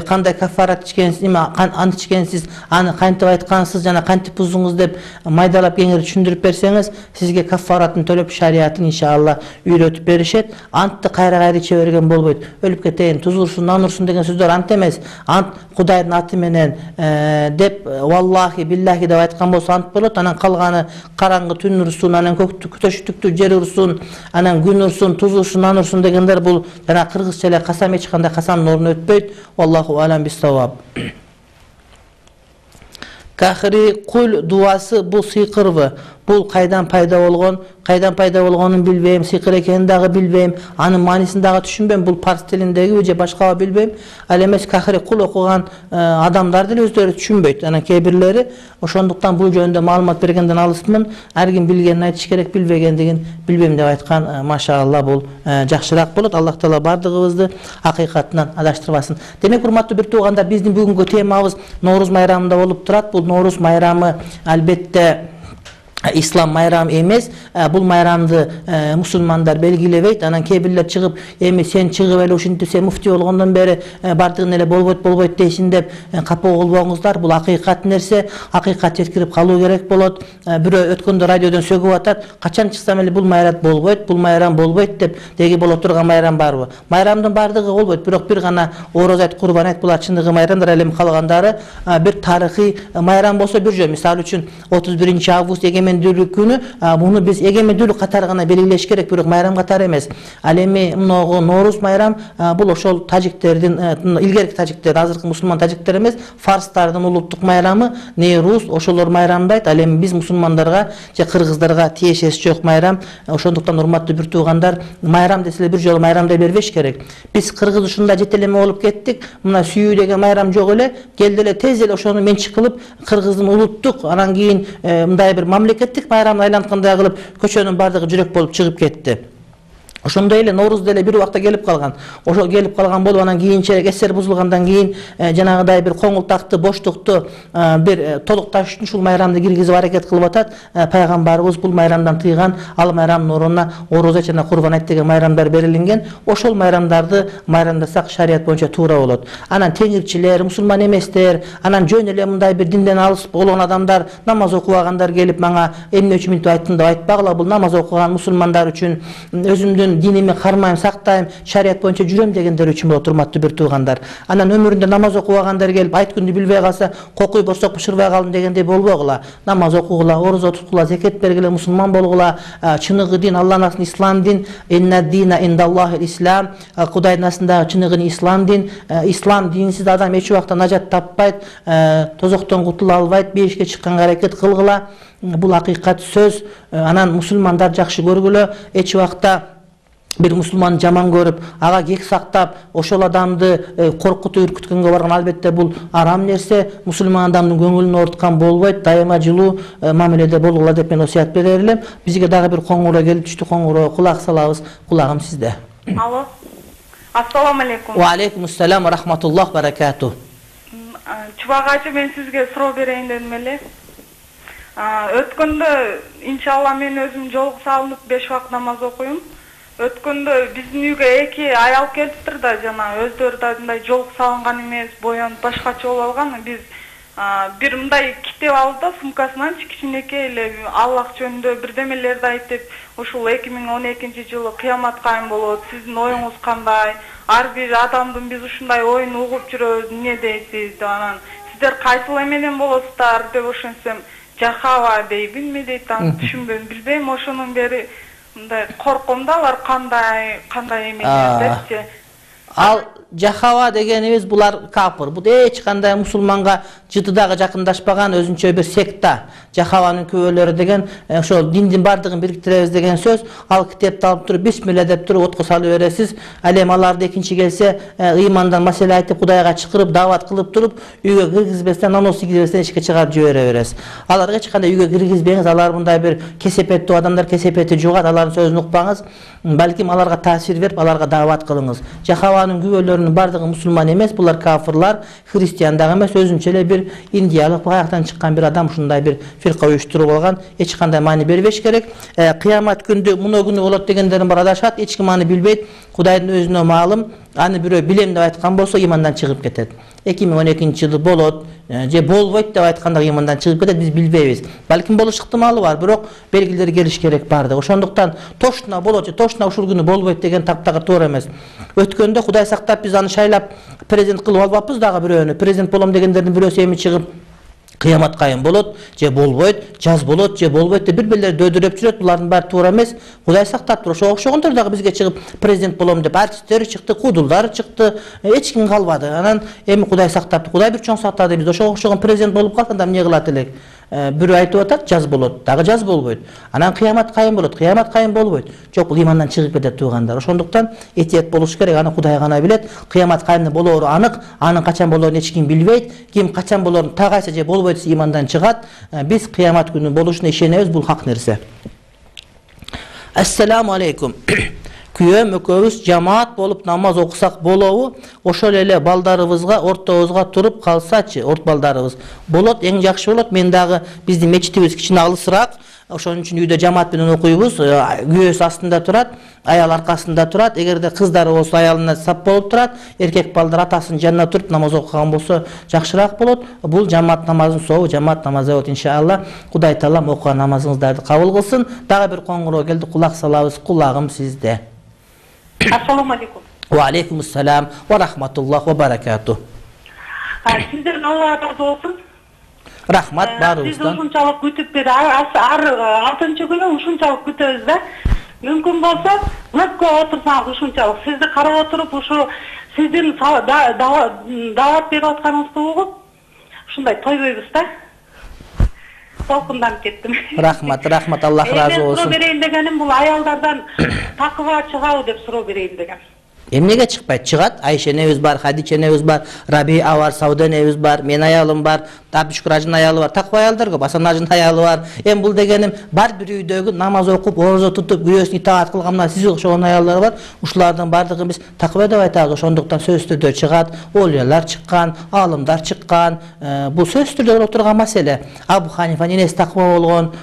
кандай каффарат ичкенсиз, эме ант ичкенсиз, аны кантип айткансыз жана кантип буздуңуз деп майдалап кеңири түшүндүрүп берсеңиз, сизге каффаратын төлөп шариятын иншалла үйрөтүп беришет. Антты кайра-кайра иче берген болбойт. Өлүп кетейин, туз урсун, нан урсун деген сөздөр ант эмес. Ант Кудайдын аты менен деп валлахи биллахи деп айткан болсо ант болот. Анан калганы караңгы түн урсун, анан көктөштүктү жер урсун, анан күн урсун, туз урсун, нан урсун дегендер бул жана кыргызча эле касам, эч кандай касамдын ордуна өтпөйт. Аллаху алам бис-саваб. Кахри кул дуасы бул сыйкырбы? Бул кайдан пайда болгон? Кайдан пайда болгонун билбейм, сыйкыр экенин дагы билбейм, анын маанисин дагы түшүнбөйм. Бул парс тилиндеги же башкабы билбейм. Ал эмес кахри кул окуган адамдар деле өздөрү түшүнбөйт. Анан кээ бирлери ошондуктан бул жөнүндө маалымат бергенден алысмын. Ар ким билгенин айтыш керек, билбегендигин билбейм деп айткан машаалла бул жакшыраак болот. Аллах таала бардыгыбызды акыйкатынан адаштырбасын. Демек, урматтуу бир туугандар, биздин бүгүнкү темабыз Норуз майрамында болуп турат. Бул Норуз майрамы албетте ислам майрамы эмес. Бул майрамды мусулмандар белгилебейт. Анан кээ бирлер чыгып, эми сен чыгып эле ушинтип сен муфти болгондон бери бардыгын эле болбойт болбойт дейсиң деп капа болбоңуздар. Бул акыйкат нерсе, акыйкат жеткирип калуу керек болот. Бирөө өткөндө радиодон сөгүп атат, качан чыксам эле бул майрам болбойт, бул майрам болбойт деп. Деги боло турган майрам барбы? Майрамдын бардыгы болбойт, бирок бир гана Ороз айт, Курбан айт, булар чындыгы майрамдар, элем калгандары бир тарыхый майрам болсо бир жөн. Мисалы үчүн отуз биринчи август эгемендүүлүк күнү, муну биз эгемендүүлүк катары гана белгилеш керек, бирок майрам катары эмес. Ал эми мыногу Норуз майрам бул ошол тажиктердин, илгерки тажиктер, азыркы мусулман тажиктер эмес, фарстардын улуттук майрамы Нейруз, ошолор майрамдайт. Ал эми биз мусулмандарга же кыргыздарга тиешеси жок майрам. Ошондуктан урматтуу бир туугандар, майрам деселе бир жолу майрамдай бербеш керек. Биз кыргыз ушунда жетелеме болуп кеттик. Мына сүйүү деген майрам жок эле, келди эле тез эле ошону менчик кылып кыргыздын улуттук, анан кийин мындай бир мамлекеттик майрамды айланткандай кылып көчөнүн бардыгы жүрөк болуп чыгып кетти. Ошондой эле Норуз деле бир убакта келип калган. Ошол келип калган болуп, анан кийинчерээк эсер бузулгандан кийин жанагыдай бир коңултактуу, боштукту бир толукташ үчүн ушул майрамды киргизип аракет кылып атат. Пайгамбарыбыз бул майрамдан тыйган, ал майрамдын ордуна Ороз айт жана Курбан айт деген майрамдар берилинген. Ошол майрамдарды майрамдасак шарият боюнча туура болот. Анан теңирчилер, мусулман эместер, анан жөн эле мындай бир динден алыс болгон адамдар, намаз окубагандар келип мага эмне үчүн мынтип айттың деп айтпагыла. Бул намаз окуган мусулмандар үчүн, өзүмдүн диними кармайм, сактайм, шарият боюнча жүрөм дегендер үчүн болот, урматтуу бир туугандар. Анан өмүрүндө намаз окубагандар келип айт күндү билбей калса, кокуй борсок бышырбай калдым дегендей болбогула. Намаз окугула, орозо туткула, зекет бергиле, мусулман болгула. Чыныгы дин Алланын астында ислам дин. Инна дина индаллахи ислам. Кудайдын астында чыныгы ислам дин. Ислам динсиз адам эч убакта нажат таппайт, тозоктон кутула албайт. Бейишке чыкканга аракет кылгыла. Бул акыйкат сөз. Анан мусулмандар жакшы көргүлө. Эч убакта бир мусулман жаман көрүп, ага кек сактап, ошол адамды коркутуп үркүткөнгө барган, албетте бул арам нерсе. Мусулман адамдын көңүлүн ооруткан болбойт, дайыма жылуу мамиледе болгула деп мен осуят берер элем. Бизге дагы бир коңгуроо келип түштү, коңгуроо кулак салабыз. Кулагым сизде. Алло. Ассаламу алейкум. Ва алейкум ассалам ва рахматуллах ва баракату. Чубагачы, мен сизге суроо берейин дедим эле. Өткөндө иншалла мен өзүм жолго салынып беш убакыт намаз окуйм. Өткөндө биздин үйгө эки аял келиптир да, жана өздөрү да мындай жолго салынган эмес, боянып башкача болуп алган. Биз бир мындай китеп алды да, сумкасынан кичинекей эле Аллах жөнүндө бирдемелерди айтып, ушул эки миң он экинчи жылы кыямат кайым болот, сиздин оюңуз кандай? Ар бир адамдын биз ушундай оюн угуп жүрөбүз, эмне дейсиз? Анан сиздер кайсыл эмеден болосуздар деп ошентсем, жахава дейби, эмне дейт, аны түшүнбөйм, билбейм. Ошонун бери мындай корком да, алар кандай кандай эмелер депчи. Ал жахава дегенибиз булар капыр. Бул эч кандай мусулманга жытыдагы жакындашпаган өзүнчө бир секта. Жахаванын күбөлөрү деген ошол диндин бардыгын бириктиребиз деген сөз. Ал китепти алып туруп бисмилля деп туруп отко салып бересиз. Ал эми аларды экинчи келсе ыймандан маселе айтып, Кудайга чакырып, дават кылып туруп, үйгө киргизбестен, намаз киргизбестен эшикке чыгарып жибере бересиз. Аларга эч кандай үйгө киргизбеңиз. Алар мындай бир кесепеттүү адамдар, кесепети жугат. Алардын сөзүн укпаңыз. Балким аларга таасир берип, аларга дават кылыңыз. Жахаванын күбөлөрүн булардын бардыгы мусулман эмес, булар кафирлар, христиан дагы эмес, өзүнчө эле бир индиялык баягыдан чыккан бир адам ушундай бир фирка уюштуруп алган. Эч кандай маани бербеш керек. Кыямат күндө муну күнү болот дегендерин бар адашат, эч ким аны билбейт. Кудайдын өзүнө маалым. Аны бирөө билем деп айткан болсо имандан чыгып кетет. эки миң он экинчи жылы болот же болбойт деп айтканда имандан чыгып кетет, биз билбейбиз. Балким болуш ыктымалы бар, бирок белгилер келиш керек барды. Ошондуктан точно болот же точно ушул күнү болбойт деген таптагы туура эмес. Өткөндө Кудай сактап биз аны шайлап президент кылып албаппыз дагы бирөөнү. Президент болом дегендердин бирөөсү эми чыгып кыямат кайын болот же болбойт, жаз болот же болбойт деп бир-бирлери дөйдөрөп жүрөт. Булардын баары туура эмес. Кудай сактаптыр. Ошого окшогондор дагы бизге чыгып президент болом деп артисттери чыкты, куудулдары чыкты, эч ким калбады. Анан эми Кудай сактаптыр. Кудай бир чоң сактады биз. Ошого окшогон президент болуп калсаң да эмне кылат элек? Бирөө айтып атат, жаз болот, дагы жаз болбойт. Анан кыямат кайын болот, кыямат кайын болбойт. Жок, бул имандан чыгып кетет туугандар. Ошондуктан этият болуш керек. Аны Кудай гана билет. Кыямат кайын болоору анык, анын качан болоорун эч ким билбейт. Ким качан болоорун так айтса же болбойт десе имандан чыгат. Биз кыямат күнү болушуна ишенебиз, бул хак нерсе. Ассаламу алейкум. Күйөөм экөөбүз жамаат болуп намаз окусак болобу? Ошол эле балдарыбызга ортобузга туруп калсачы, орт балдарыбыз. Болот, эң жакшы болот. Мен дагы биздин мечитибиз кичине алысыраак. Ошон үчүн үйдө жамаат менен окуйбуз. Күйөөсү астында турат, аял аркасында турат. Эгерде кыздары болсо аялына сап болуп турат, эркек балдар атасынын жанына туруп намаз окуган болсо жакшыраак болот. Бул жамаат намазын сообу, жамаат намазы болот иншалла. Кудай таалам окуган намазыңыздарды кабыл кылсын. Дагы бир коңгуроо келди, кулак салабыз. Кулагым сизде. Ассаламу алейкум. Ва алейкум ассалам ва рахматуллах ва баракату. Сиздердин Алла разы болсун. Рахмат барыбыздан. Биз ушунчалык күтүп бери ар алтынчы күнү ушунчалык күтөбүз да. Мүмкүн болсо, мыкка отурсаңыз ушунчалык сизди карап отуруп, ушу сиздин даават берип атканыңызды угуп, ушундай тойбойбуз да. Толкунданып кеттим. Рахмат, рахмат, Аллах разы болсун. Суроо берейин дегеним бул аялдардан такыба чыгабы деп суроо берейин деген. Эмнеге чыкпайт? Чыгат. Айша энебиз бар, Хадича энебиз бар, Рабиа бар, Сауда энебиз бар, мен аялым бар, Абдушкур ажынын аялы бар, таква аялдар көп, Асан ажынын аялы бар. Эми бул дегеним бар бир үйдөгү намаз окуп, орозо тутуп, күйөөсүнө итаат кылган мына сиз окшогон аялдар бар. Ушулардын бардыгын биз таква деп айтабыз. Ошондуктан сөзсүз түрдө чыгат, олиялар чыккан, аалымдар чыккан. Бул сөзсүз түрдө болуп турган маселе. Абу Ханифанын энеси таква болгон.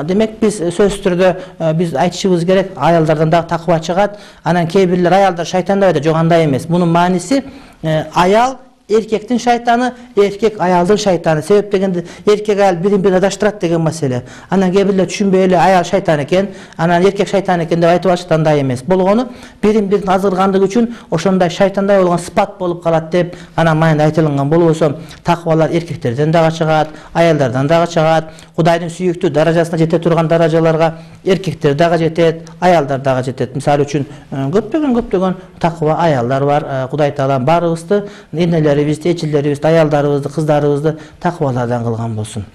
Демек биз сөзсүз түрдө биз айтышыбыз керек, аялдардан дагы таква чыгат. Анан кээ бирлер аялдар шайтан деп айтат, жок андай эмес. Мунун мааниси аял эркектин шайтаны, эркек аялдын шайтаны. Себеп дегенде эркек аял бирин-бири адаштырат деген маселе. Анан кээ бирлер түшүнбөй эле аял шайтан экен, анан эркек шайтан экен деп айтып алышат, андай эмес. Болгону бирин-бирин азгыргандыгы үчүн ошондой шайтандай болгон сыпат болуп калат деп анан майында айтылган. Болбосо таквалар эркектерден дагы чыгат, аялдардан дагы чыгат. Кудайдын сүйүктүү даражасына жете турган даражаларга эркектер дагы жетет, аялдар дагы жетет. Мисалы үчүн көптөгөн көптөгөн таква аялдар бар. Кудай таалам баарыбызды, энелерибизди, эчилерибизди, аялдарыбызды, кыздарыбызды таквалардан кылган болсун.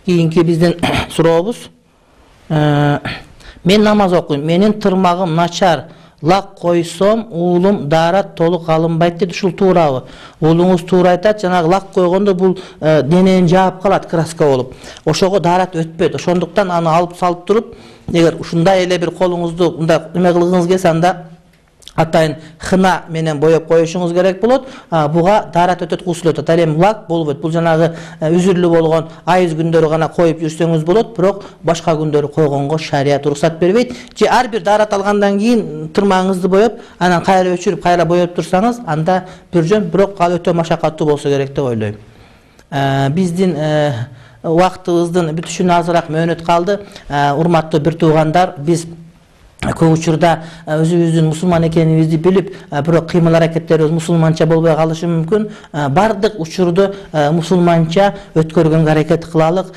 Кийинки биздин сурообуз. Мен намаз окуйм, менин тырмагым начар, лак койсом уулум даарат толук алынбайт дейт. Ушул туурабы? Уулуңуз туура айтат, жанагы лак койгондо бул денени жаап калат краска болуп. Ошого даарат өтпөйт. Ошондуктан аны алып салып туруп, эгер ушундай эле бир колуңузду мындай эме кылгыңыз келсе, анда атайын хына менен боеп коюшуңуз керек болот. Буга даарат өтөт, гусул өтөт. Ал эми лак болбойт. Бул жанагы үзүрлүү болгон айыз күндөрү гана коюп жүрсөңүз болот, бирок башка күндөрү койгонго шарият уруксат бербейт. Же ар бир даарат алгандан кийин тырмагыңызды боеп, анан кайра өчүрүп, кайра боеп турсаңыз, анда бир жөн, бирок ал өтө машакаттуу болсо керек деп ойлойм. Биздин убактыбыздын бүтүшүнө азыраак мөөнөт калды. Урматтуу бир туугандар, биз көп учурда өзүбүздүн мусулман экенибизди билип, бирок кыймыл аракеттерибиз мусулманча болбой калышы мүмкүн. Бардык учурду мусулманча өткөргөнгө аракет кылалык.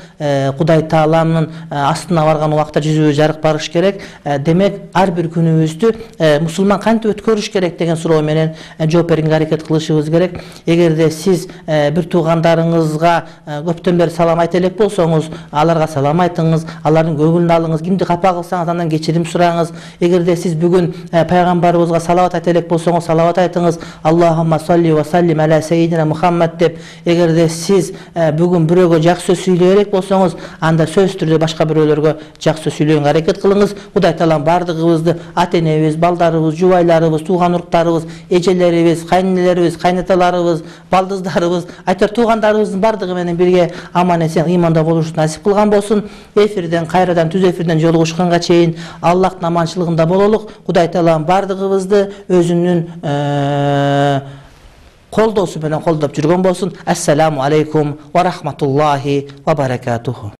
Кудай тааламдын астына барган убакта жүзүбүз жарык барыш керек. Демек, ар бир күнүбүздү мусулман кантип өткөрүш керек деген суроо менен жооп бергенге аракет кылышыбыз керек. Эгерде сиз бир туугандарыңызга көптөн бери салам айта элек болсоңуз, аларга салам айтыңыз, алардын көңүлүн алыңыз, кимди капа кылсаңыз андан кечирим сураңыз. Эгерде сиз бүгүн пайгамбарыбызга салават айта элек болсоңуз, салават айтыңыз. Аллахумма салли ва саллим аля сайидина Мухаммад деп. Эгерде сиз бүгүн бирөөгө жакшы сөз сүйлөй элек болсоңуз, анда сөзсүз түрдө башка бирөөлөргө жакшы сөз сүйлөгөнгө аракет кылыңыз. Кудай таалам бардыгыбызды, ата-энебиз, балдарыбыз, жубайларыбыз, тууган уруктарыбыз, эжелерибиз, кайненелерибиз, кайнаталарыбыз, балдыздарыбыз, айтор туугандарыбыздын бардыгы менен бирге аман эсен ыйманда болушун насип кылган болсун. Эфирден кайрадан түз эфирден жолугушканга чейин Аллахтын аманчылыгында бололук. Кудай таалам бардыгыбызды өзүнүн колдоосу менен колдоп жүргөн болсун. Ассаламу алейкум ва рахматуллахи ва баракатуху.